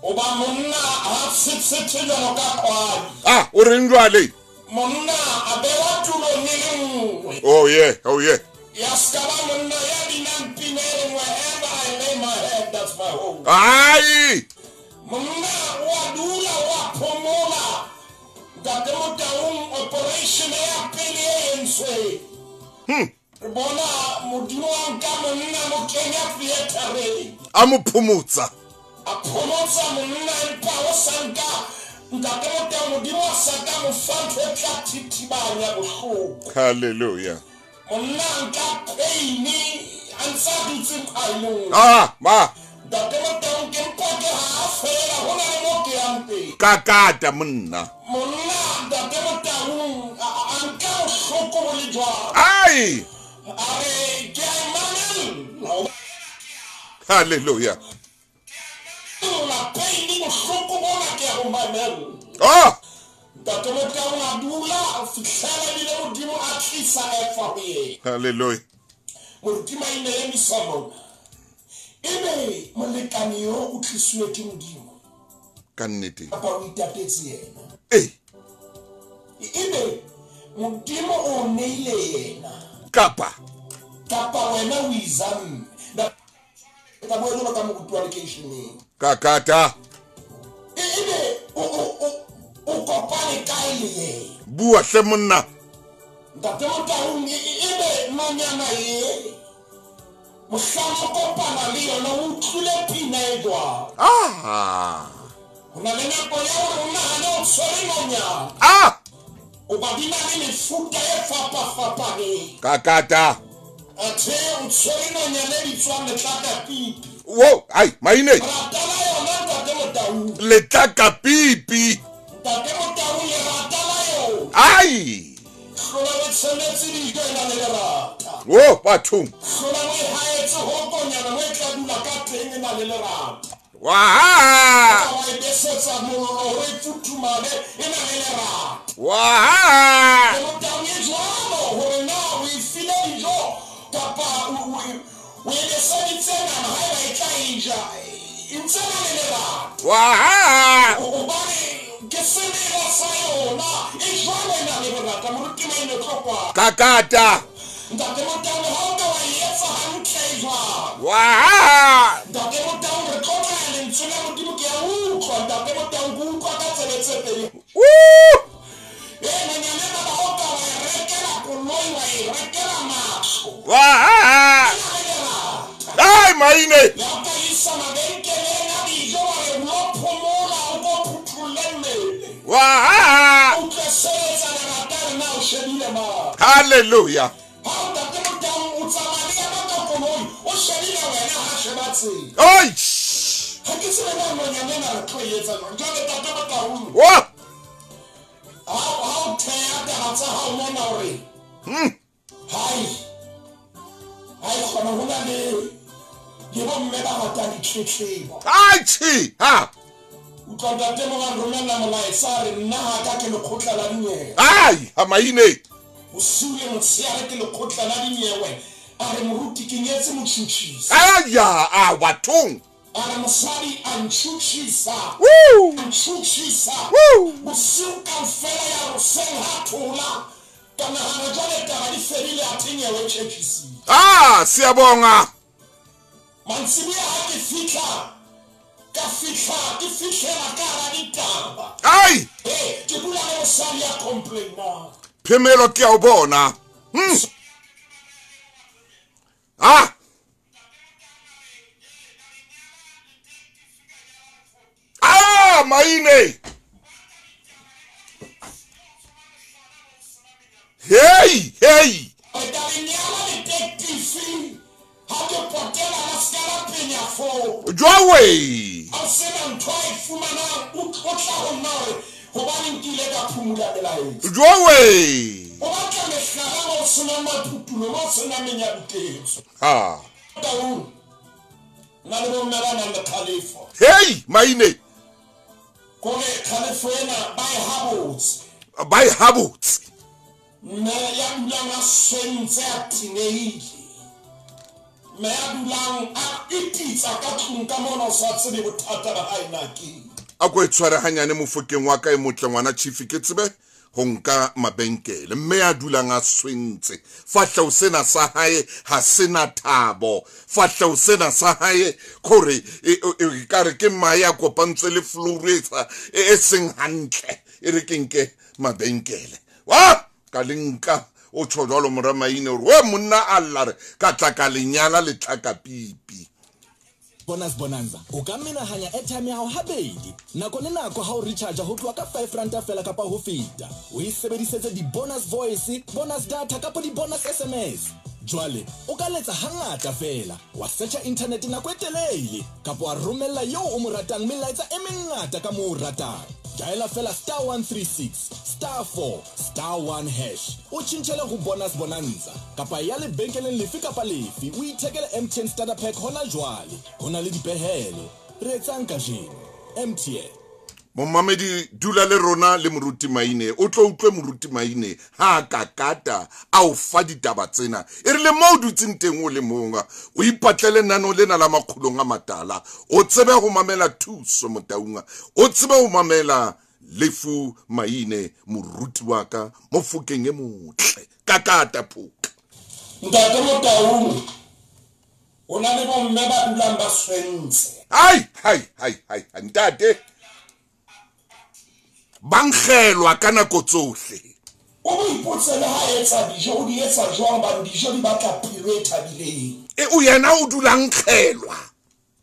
Oba monna a tshetshetse jwalo ka kwadi. Ah, o reng jwale? Monna a bewa tulong e le nngwe. Oh yeah, oh yeah. Ya ska ba monna ya binang pina e nngwe, wherever I lay my head, that's my home. Ai. Monna wa dula wa phomola. Ntate Motaung, operation ya pele e entswe. Re bona Modimo a nka monna mo kenya theatereng. A mo phomotsa. A phomotsa monna empa o sa nka. Ntate Motaung, Modimo a sa ka mo fa ntho e tla thithibanya bohloko. Hallelujah. Monna nka pain a ntsa dutse phailong. Ah, ma. Ntate Motaung ke mpa ke ha fela ho na le mo ke yang teng. Kakata monna. Monna ntate Motaung a nka bohloko bo le jwalo. Ai. A re ke a mamella. Hallelujah. La pain bohloko bona ke a bo mamella. Ah. Ntate Motaung a dula a fihlela ebile Modimo a tlisa Efa ho yena. Hallelujah. Moruti Maine emisa mona. Ebe molekane yo o tlisuwe ke Modimo. Ka nnete. Kapa o itatetse yena. Eh. Ebe Modimo o neile yena. Kapa. Kapa wena o izamme. Ka bua jwalo ka moruti wa lekeisheneng. Kakata. Ebe o kopane kae le yena? Bua hle monna. Ntate Motaung, ebe nonyana e mohlang o kopana le yona o utlwile pina e jwang? Ah. Ho na le nako ya hore o nahane o tshwere nonyana. Ah. O ba di na le mefuta e fapafapaneng. Kakata. Athe o tshwere nonyana e bitswang letlakapipi. Wo, ai, Maine. Rata la yona ntate Motaung. Letlakapipi. Ntate Motaung, lerata la yona. Ai. Hlola o tshwanetse dijo e na le lerata. Wo, bathong. Hlola o e haetse ho konyana mo e tla dula ka teng e na le lerata. Wa. Wa e besetsa mollo hore e futhumale e na le lerata. Wa. Motaung e jwalo hore na o e file dijo kapa o e beseditse nama haeba e tla e ja, e ntse na le lerata. Wa. Hobane ke semela sa yona e jwalo e na le lerata. Moruti Maine tlo kwa. Kakata. Ntate Motaung, ha o ka wa e etsa hantle e jwalo. Wa. Ntate Motaung, re tlo tla lentswe la Modimo ke a utlwa. Ntate Motaung, ke utlwa ka tsebe tse pedi. rekela matlo. Wa! Ai maine! Le o ka isa mabenkeleng a dijo wa re lo phomola o ko phuthulle mmele. Wa! O tla sebetsa lerata re na o shebile mang. Hallelujah. Ha o ntate Motaung o tsamaya le yena ka koloi, o shebile wena ha sheba tsela. Oi! Ha ke tsebe na nonyana ena re tlo e etsa jwang. Jwale ntate Motaung. Wa! Ha o theha taba tsa hao mona hore hai hai kgona ho na le bomme ba ratang ditletlebo. Ai tjhe, ha. Utlwa ntate mo ba nromella molaetsa a re nna ha ka ke lekgotla la dinyewe. Ai, ha maine. Bosiu le motshehare ke lekgotla la dinyewe. A re moruti ke nyetse motjhutjhisi. Aya, a bathong. A re mosadi a ntjhutjhisa. Woo! A ntjhutjhisa. Woo! Bosiu kaofela ya hoseng ha thola. Ka nahana jwale taba di fedile a the nyewe tjhetjhisile. Ah, siyabonga. Mantsibuya ha ke fihla ka fihla ke fihlela ka hara ditaba. Ai! Ke bua le mosadi ya complainang. Phemelo ke a o bona. Ah! Ah, maine! Hey, hey! Re tla re nyala detective ha ke potela la ska la penya foo. Jwawe! Ha o sena ntho a e fumanang, o tla ho nna hore hobaneng ke ile ka phumula melaetsa. Jwawe! O batla mehlala mo o senang maphutulo, mo o senang menyabuketso. Ha. Taung, nna le bomme ba nang le kgalefo. Hey, maine! Kore kgalefo ena ba e habotse. Ba e habotse. Mme ya dulang a swentse a tenehile. Mme ya dulang a ititsa ka tlung ka mona o sa tsebe bothata ba hae na ke. A ko e tshware hanyane mofokeng wa ka e motle ngwana chief ke tsebe ho nka mabenkele. Mme ya dulang a swentse. Fahleho sena sa hae ha sena thabo. Fahleho sena sa hae kore e ka re ke mahe a kopantswe le flour e seng hantle. E re ke nke mabenkele. Wa! Ka le nka o tjho jwalo mora maine hore we monna a lla re ka tla ka lenyala le tlaka pipi. Bonus Bonanza o ka menahanya airtime ya hao habedi nako le nako ha o recharge ho tloha ka 5 ranta fela kapa ho feta. O e sebedisetse di-bonus voice, bonus data kapa di-bonus SMS. Jwale o ka letsa hangata fela, wa searcha internet nako e telele kapa wa romella eo o mo ratang melaetsa e mengata ka moo o ratang. Diala fela star 136 star 4 star 1 hash o tjhentjhele ho Bonus Bonanza kapa ya lebenkeleng lefe kapa lefe o ithekele MTN starter pack hona jwale. Ho na le dipehelo. Re etsang kajeno? MTN. Momamedi dula le rona le moruti Maine. O tlo utlwe moruti Maine ha ka kata a o fa ditaba tsena. E re le mo o dutseng teng o le monga o ipatlele nano lena la makgolong a matala. O tsebe ho mamela Thuso Motaung. O tsebe ho mamela Lefu Maine moruti wa ka mofokeng e motle. Kakata phoka. Ntate Motaung o na le bomme ba dulang ba swentse. Hai hai hai hai ntate. Bankgelwa ka nako tsohle. O mo ipotse le ha etsa dijo, o di etsa jwang hobane dijo di batla pelo e thabileng. E o yena o dulang kgelwa.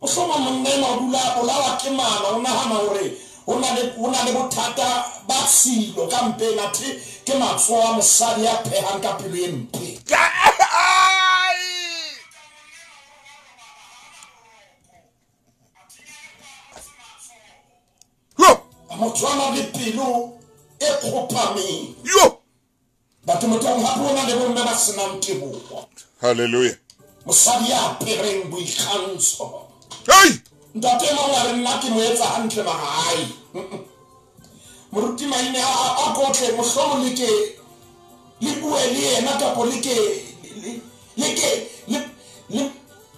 Mohlomong monna enwa o dula a bolawa ke mala, o nahana hore ho na le bothata ba tshilo ka mpeng, athe ke matsoho a mosadi ya phehang ka pelo e mpe. Motho a nang le pelo e kgopameng. Yo! Batho Motaung hape ho na le bomme ba senang teboho. Hallelujah. Mosadi ya apereng boikgantsho. Hey! Ntate e mong a re nna ke mo etsa hantle mara hae. Moruti Maine a kotle mohlomong le ke le bue le yena kapa le ke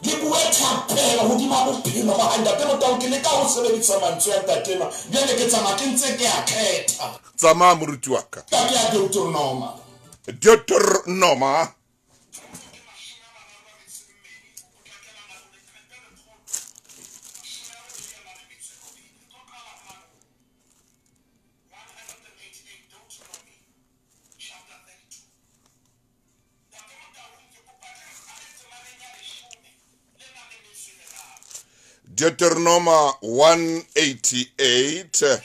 le bue thapelo hodima bophelo ba hae. Ntate Motaung ke leka ho sebedisa mantswe a ntate enwa. Jwale ke tsamaya ke ntse ke a kgetha. Tsamaya moruti wa ka. Ka ke ya Deuteronoma. Deuteronoma. Deuteronoma 188.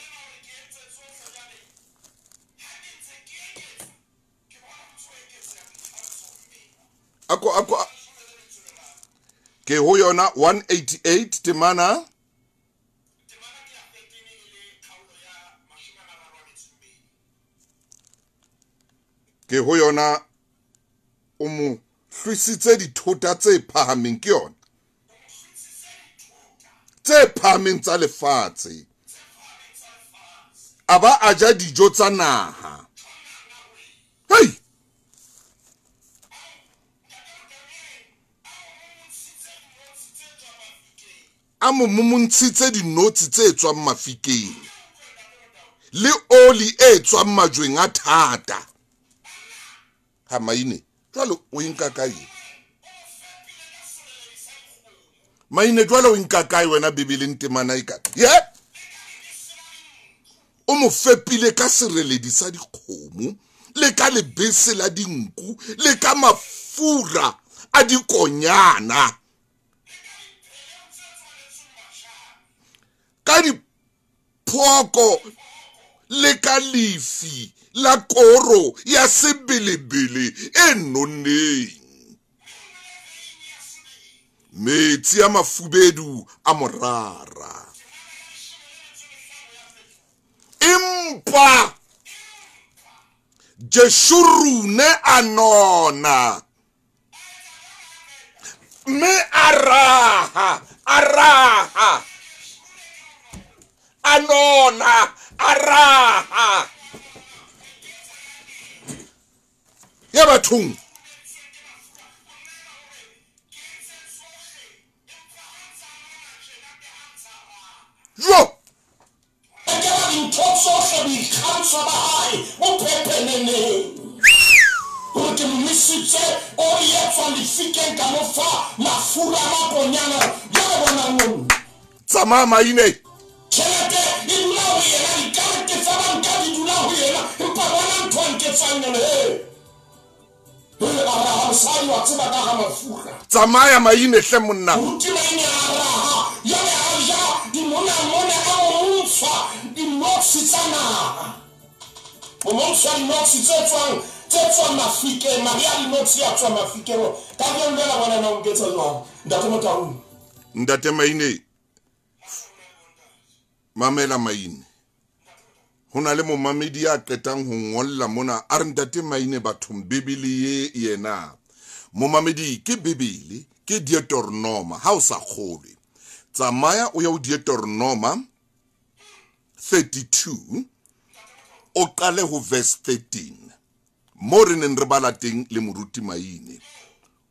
Ako ke ho yona 188 temana ke ho yona o mo hlwisitse dithota tse phahameng ke yona tse phahameng tsa lefatshe a ba a ja dijo tsa naha. Hey! A mo momontshitse dinotshi tse tswang mafikeng le oli e tswang majweng a thata. Ha Maine jwale o nka kae? Maine jwale o nka kae wena Bibeleng temana e ka? Ye? O mo fepile ka sereledi sa dikgomo le ka lebese la dinku le ka mafura a dikonyana ka diphoko le ka lefi la koro ya sebelebele e nonneng, metsi a mafubedu a morara. Empa Jeshurune a nona mme a raha a nona a raha ya bathong. Jo tsamaya Maine. Tsamaya Maine hle monna. Ntate Maine, mamela Maine. Ho na le momamedi ya qetang ho ngolla mona a re ntate Maine bathong Bibele ye yena. Momamedi ke Bibele ke Deuteronoma ha o sa kgolwe. Tsamaya o ya o Deuteronoma 32 o qale ho verse 13 mo re neng re bala teng le moruti Maine.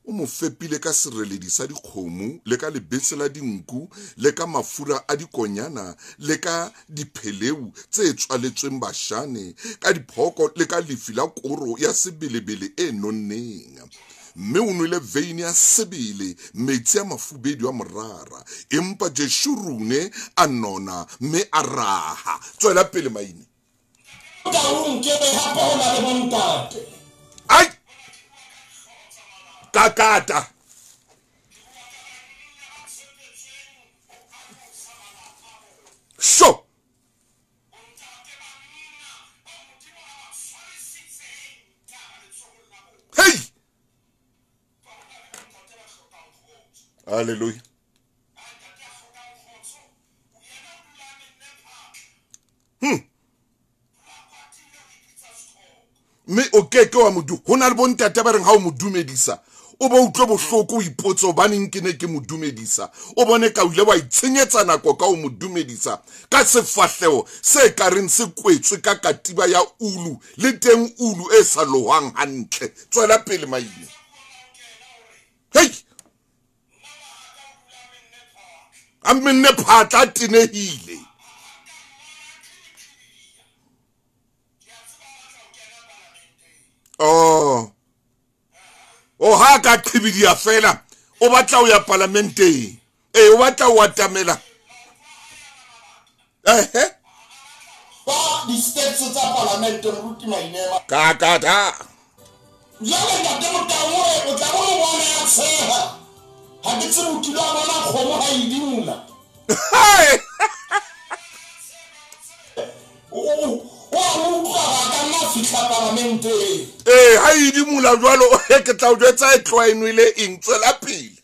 O mo fepile ka sereledi sa dikgomo le ka lebese la dinku le ka mafura a dikonyana le ka dipheleu tse tswaletsweng bashane ka diphoko le ka lefi la koro ya sebelebele e nonneng. Mme o nwele veine ya sebele metsi a mafubedu a morara. Empa Jeshurune a nona mme a raha. Tswela pele Maine. Ai! Kakata. Sho. Hey. Hallelujah. Mme o keke wa modu ho na le bontate ba reng ha o mo dumedisa o ba utlwe bohloko o ipotse hobaneng ke ne ke mo dumedisa. O bone ka o ile wa itshenyetsa nako ka o mo dumedisa ka sefahleho se ka reng se kwetswe ka katiba ya ulu le teng ulu e sa lohwang hantle. Tswela pele Maine. Hey! A menne phatla tenehile. Oh. O ha ka qhibidia fela o batla ho ya parlamenteng. Eh o batla ho atamela. Eh Ba di steps tsa parlamente moruti Maine. Ka ka ta. Jwale ntate Motaung o tla bona bona ya tsheha. Ha ke tsebe o kile wa bona kgomo ha e dimola. Ee, ha e idimola jwalo, ke tla o jwetsa e tloha e nwele eng, tswela pele.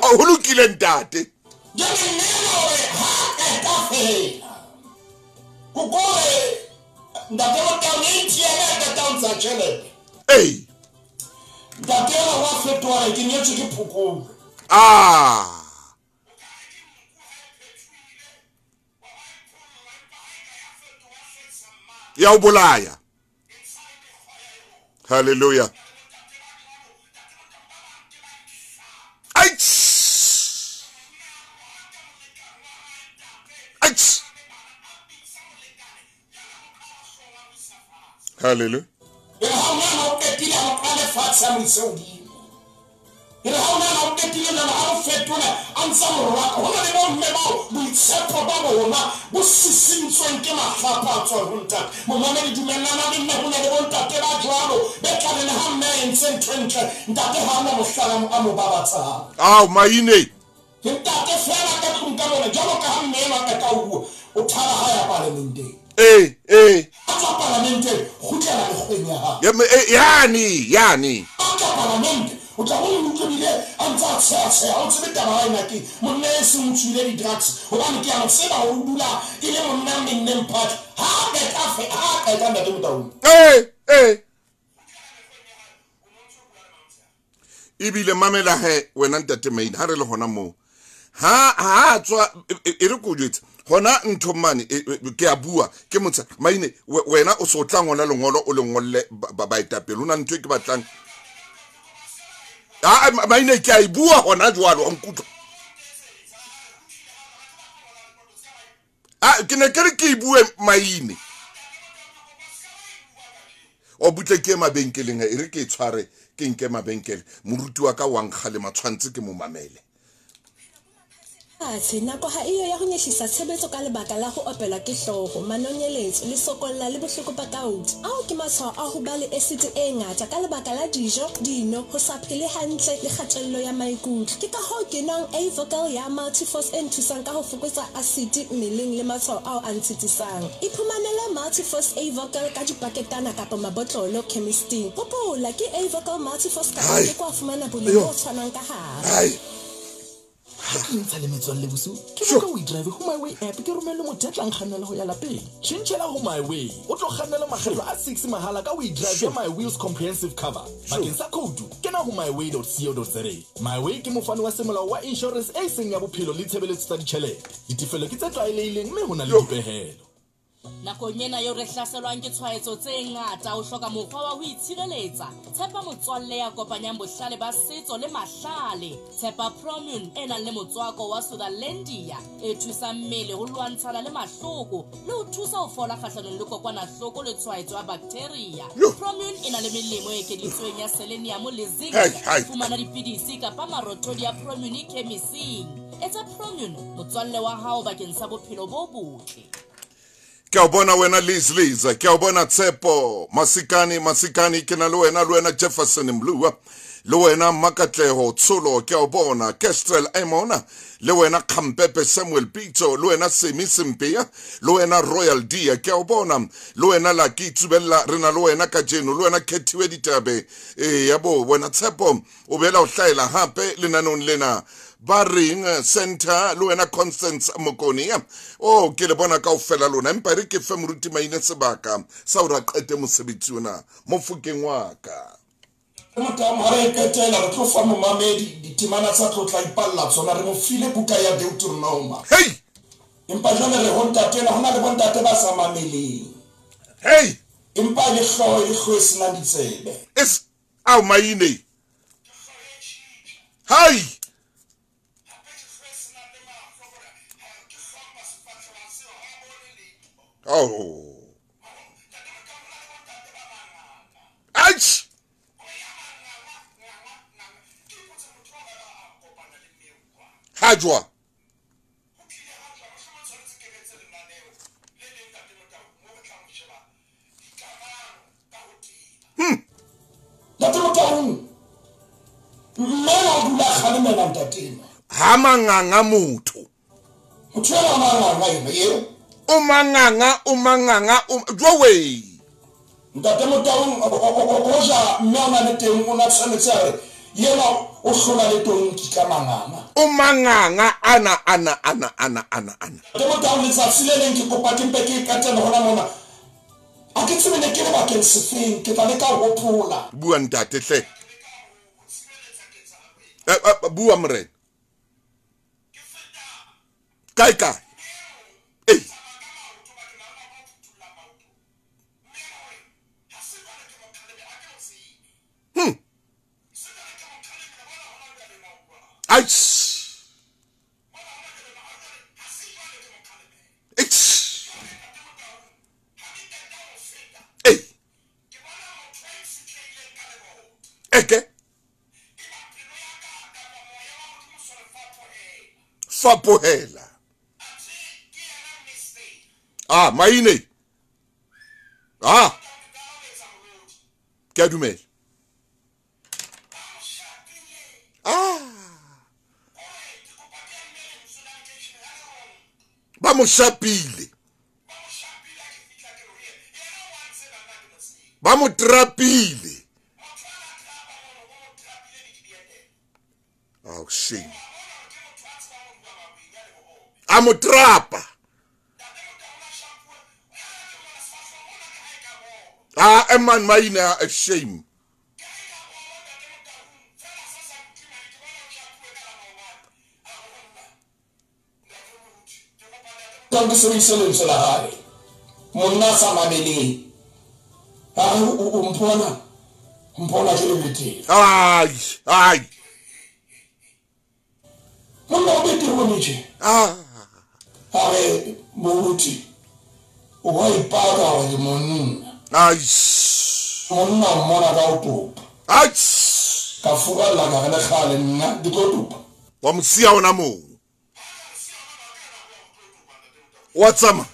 Ho lokile ntate. Ee. Ah. Ya o bolaya. Hallelujah. Aitch. Aitch. Hallelujah. Ao maine. Eh. Yani yani. O tla go utlwile a ntse a tsheatsheha o tsebe taba ena ke monna e seng o tswile di-drugs hobane ke a mo tseba hore o dula e le monna menneng party ha a qeta ntate Motaung. Ee ebile mamela he wena ntate Maine ha re le hona moo ha tswa e re ko jwetse hona ntho mane ke a bua ke motsa Maine wena o so tla ngola lengolo o le ngolle baetapele o na ntho e ke batlang. Ah, maine ke a e bua hona jwalo wa nkutlwa. Ah, ke ne ke re ke e bue Maine. O butle ke mabenkeleng e re ke e tshware ke nke mabenkele. Moruti wa ka wa nkgale matshwantse ke mo mamele. Athe nako ha iyo ya ho nyehlisa tshebetso ka lebaka la ho opelwa ke hlooho, manonyeletso, lesokolla le bohloko ba gout. Ao ke matshwao a ho ba le acid e ngata ka lebaka la dijo, dino, ho sa phele hantle le kgatello ya maikutlo. Ke ka hoo ke nwang A-Vocal ya Multiforce e nthusang ka ho fokotsa acid mmeleng le matshwao ao a ntshitisang. Iphumanele Multiforce A-Vocal ka dipaketana kapa mabotlolo chemisting. Hopola ke A-Vocal Multiforce kapa ke kwa fumana boleng bo tshwanang ka hare. Ha ke ntsha le metswalle bosiu, ke boka o drive ho My Way app ke romelle motho ya tlang kgannela ho ya lapeng. Tjhentjhela ho My Way, o tlo kgannela makgetlo a 6 mahala ka o drive ya My Wheels Comprehensive Cover. Bakeng sa khoutu, kena ho myway.co.za. My Way ke mofani wa semolao wa insurance e seng ya bophelo le tshebeletso tsa ditjhelete. Ditefello ke tse tlwaelehileng mme ho na le dipehelo. Nakong ena eo re hlaselwang ke tshwaetso tse ngata, o hloka mokgwa wa ho itshireletsa. Tshepa motswalle ya kopanyang bohlale ba setso le mahlale. Tshepa Promune e nang le motswako wa Sutherlandia e thusang mmele ho lwantshana le mahloko le ho thusa ho fola kgahlanong le kokwanahloko le tshwaetso ya bacteria. Promune e na le melemo e ekeditsweng ya selenium le zinc. Fumana dipidisi kapa marothodi ya Promune khemising. Etsa Promune motswalle wa hao bakeng sa bophelo bo botle. Ke a bona wena Liz Liz, ke a bona Tshepo Masikane Masikane, ke na le wena, le wena Jefferson Mlua, le wena Makatleho Tsholo, ke a bona Kestrel Emona, le wena Khampepe Samuel Pitso, le wena Semi Sempea, le wena Royal Dia, ke a bona, le wena Lucky Tsubella, re na le wena kajeno, le wena Khethiwe Ditabe, ya bo wena Tshepo o bela o hlaela hape lenanong lena. Ba reng Center, le wena Constance Mokoni. Oh, ke le bona kaofela lona, empa re ke fe moruti Maine sebaka sa hore a qete mosebetsi ona mofokeng wa ka. Motaung ha re qetela re tlo fa momamedi ditemana tsa tlotla ipalla tsona, re mo file buka ya Deuteronoma. Hey! Empa jwale re ho ntate ho na le bontate ba sa mameleng. Hey! Empa le hlooho e hlooho e senang ditsebe. Es ao Maine. Hai! Oh. Aitch! Hajwa. Ntate Motaung, mme wa dula kgalemela ntate. Ha manganga motho. Motho ena manganga ena eo. O manganga, o manganga, jowe. Ntate Motaung o ja mme a na le teng o na tshwanetse a re yena o hlola le tonki ka manganga. O manganga ana ana ana ana ana ana. Ntate Motaung letsatsi le leng ke kopa ke mpe ke qetelle hona mona. A ke tsebe ne ke le bakeng sefeng, ke tla leka ho hopola. Bua ntate hle. Bua morena. Kae kae? Ei. Aish. Aish. Ei. Eke. Fapohela. Ah, maine. Ah. Ke a dumela. Ah. Ba mo shapile. Ba mo trapile. Oh, shame. A mo trapa. Ah, man, maina, a shame. Ke sebedise lentswe la hae. Monna sa mameleng. A re o mpona. Mpona ke le betere. Ai, ai. Monna o betere o nitše. Ah. A re moruti o wa ipaka hore ke monna. Ai. Monna o mmona ka o topa. Ai. Ka furalla ka re le kgale nna di tlo topa. Wa mo siya ona moo. Wa tsamaya.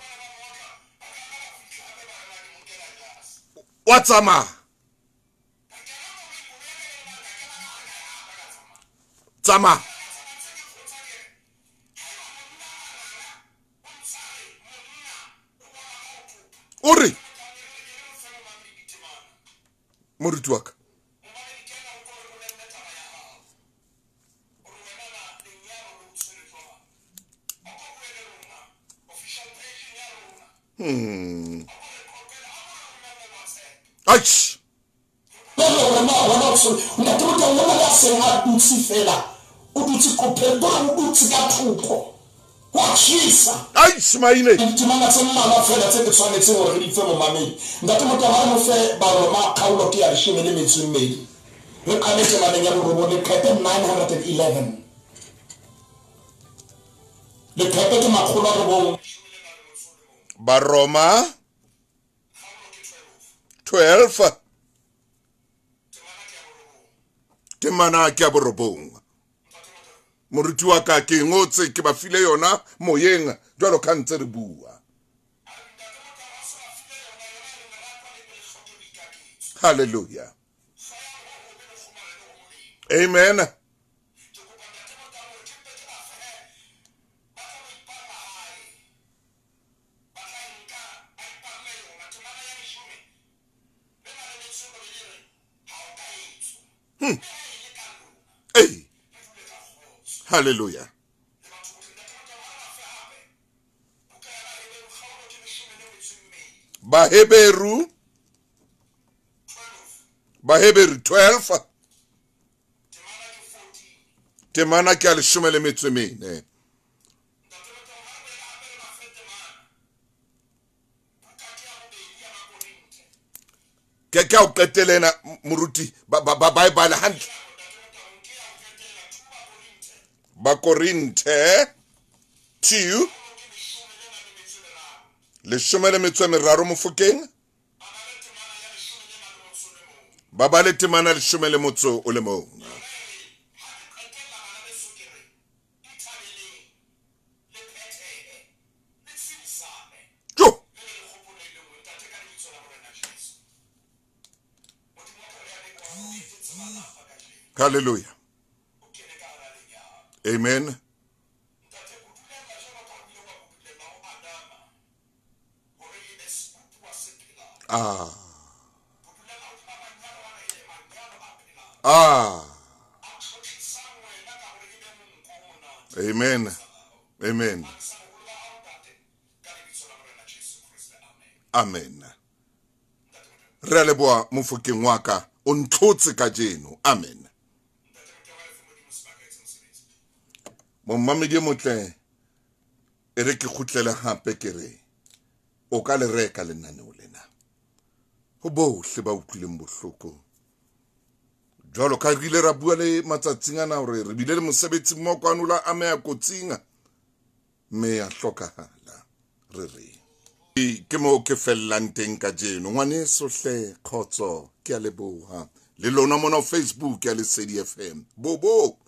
Wa tsamaya. Tsamaya. O re moruti wa ka. Aish. Ntate Motaung o na seng a dutse fela. O dutse kopeng, o dutse ka thoko. Wa tjhesa. Aish maine. Ditemana tse mmalwa fela tse ke tshwanetseng hore re di fe momamedi. Ntate Motaung a re mo fe Baroma kgaolo ke ya 12. Re qale temaneng ya borobong leqepe 911. Leqepe ke 900. Baroma 12 temana ke ya borobong. Moruti wa ka ke ngotse ke ba file yona moyeng jwalo ka ntse re bua. Hallelujah. Amen. Hey. Hallelujah. Baheberu 12 temana ke a 14. Ke ka o qetelena moruti ba ba bala hantle. Bakorinthe 2 13 mofokeng ba ba le temana 11. Jo. Hallelujah. Amen. Ah. Ah. Amen. Amen. Amen. Re a leboha mofokeng wa ka, o ntlhotse kajeno. Amen. Momamedi e motle, e re ke kgutlele hape ke re o ka le reka lenaneo lena ho bohle ba utlwileng bohloko. Jwalo ka re ile ra bua le matsatsing ana hore re bile le mosebetsi mmoho kwano la ameha kotsing mme ya hlokahala. Re re ke moo ke fellang teng kajeno. Ngwaneso hle, kgotso, ke a leboha. Le lona mona Facebook ya Lesedi FM. Bobo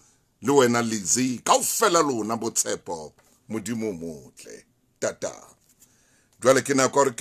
le wena Lizzy, kaofela lona botshepo, Modimo o motle. Tata. Jwale ke nako hore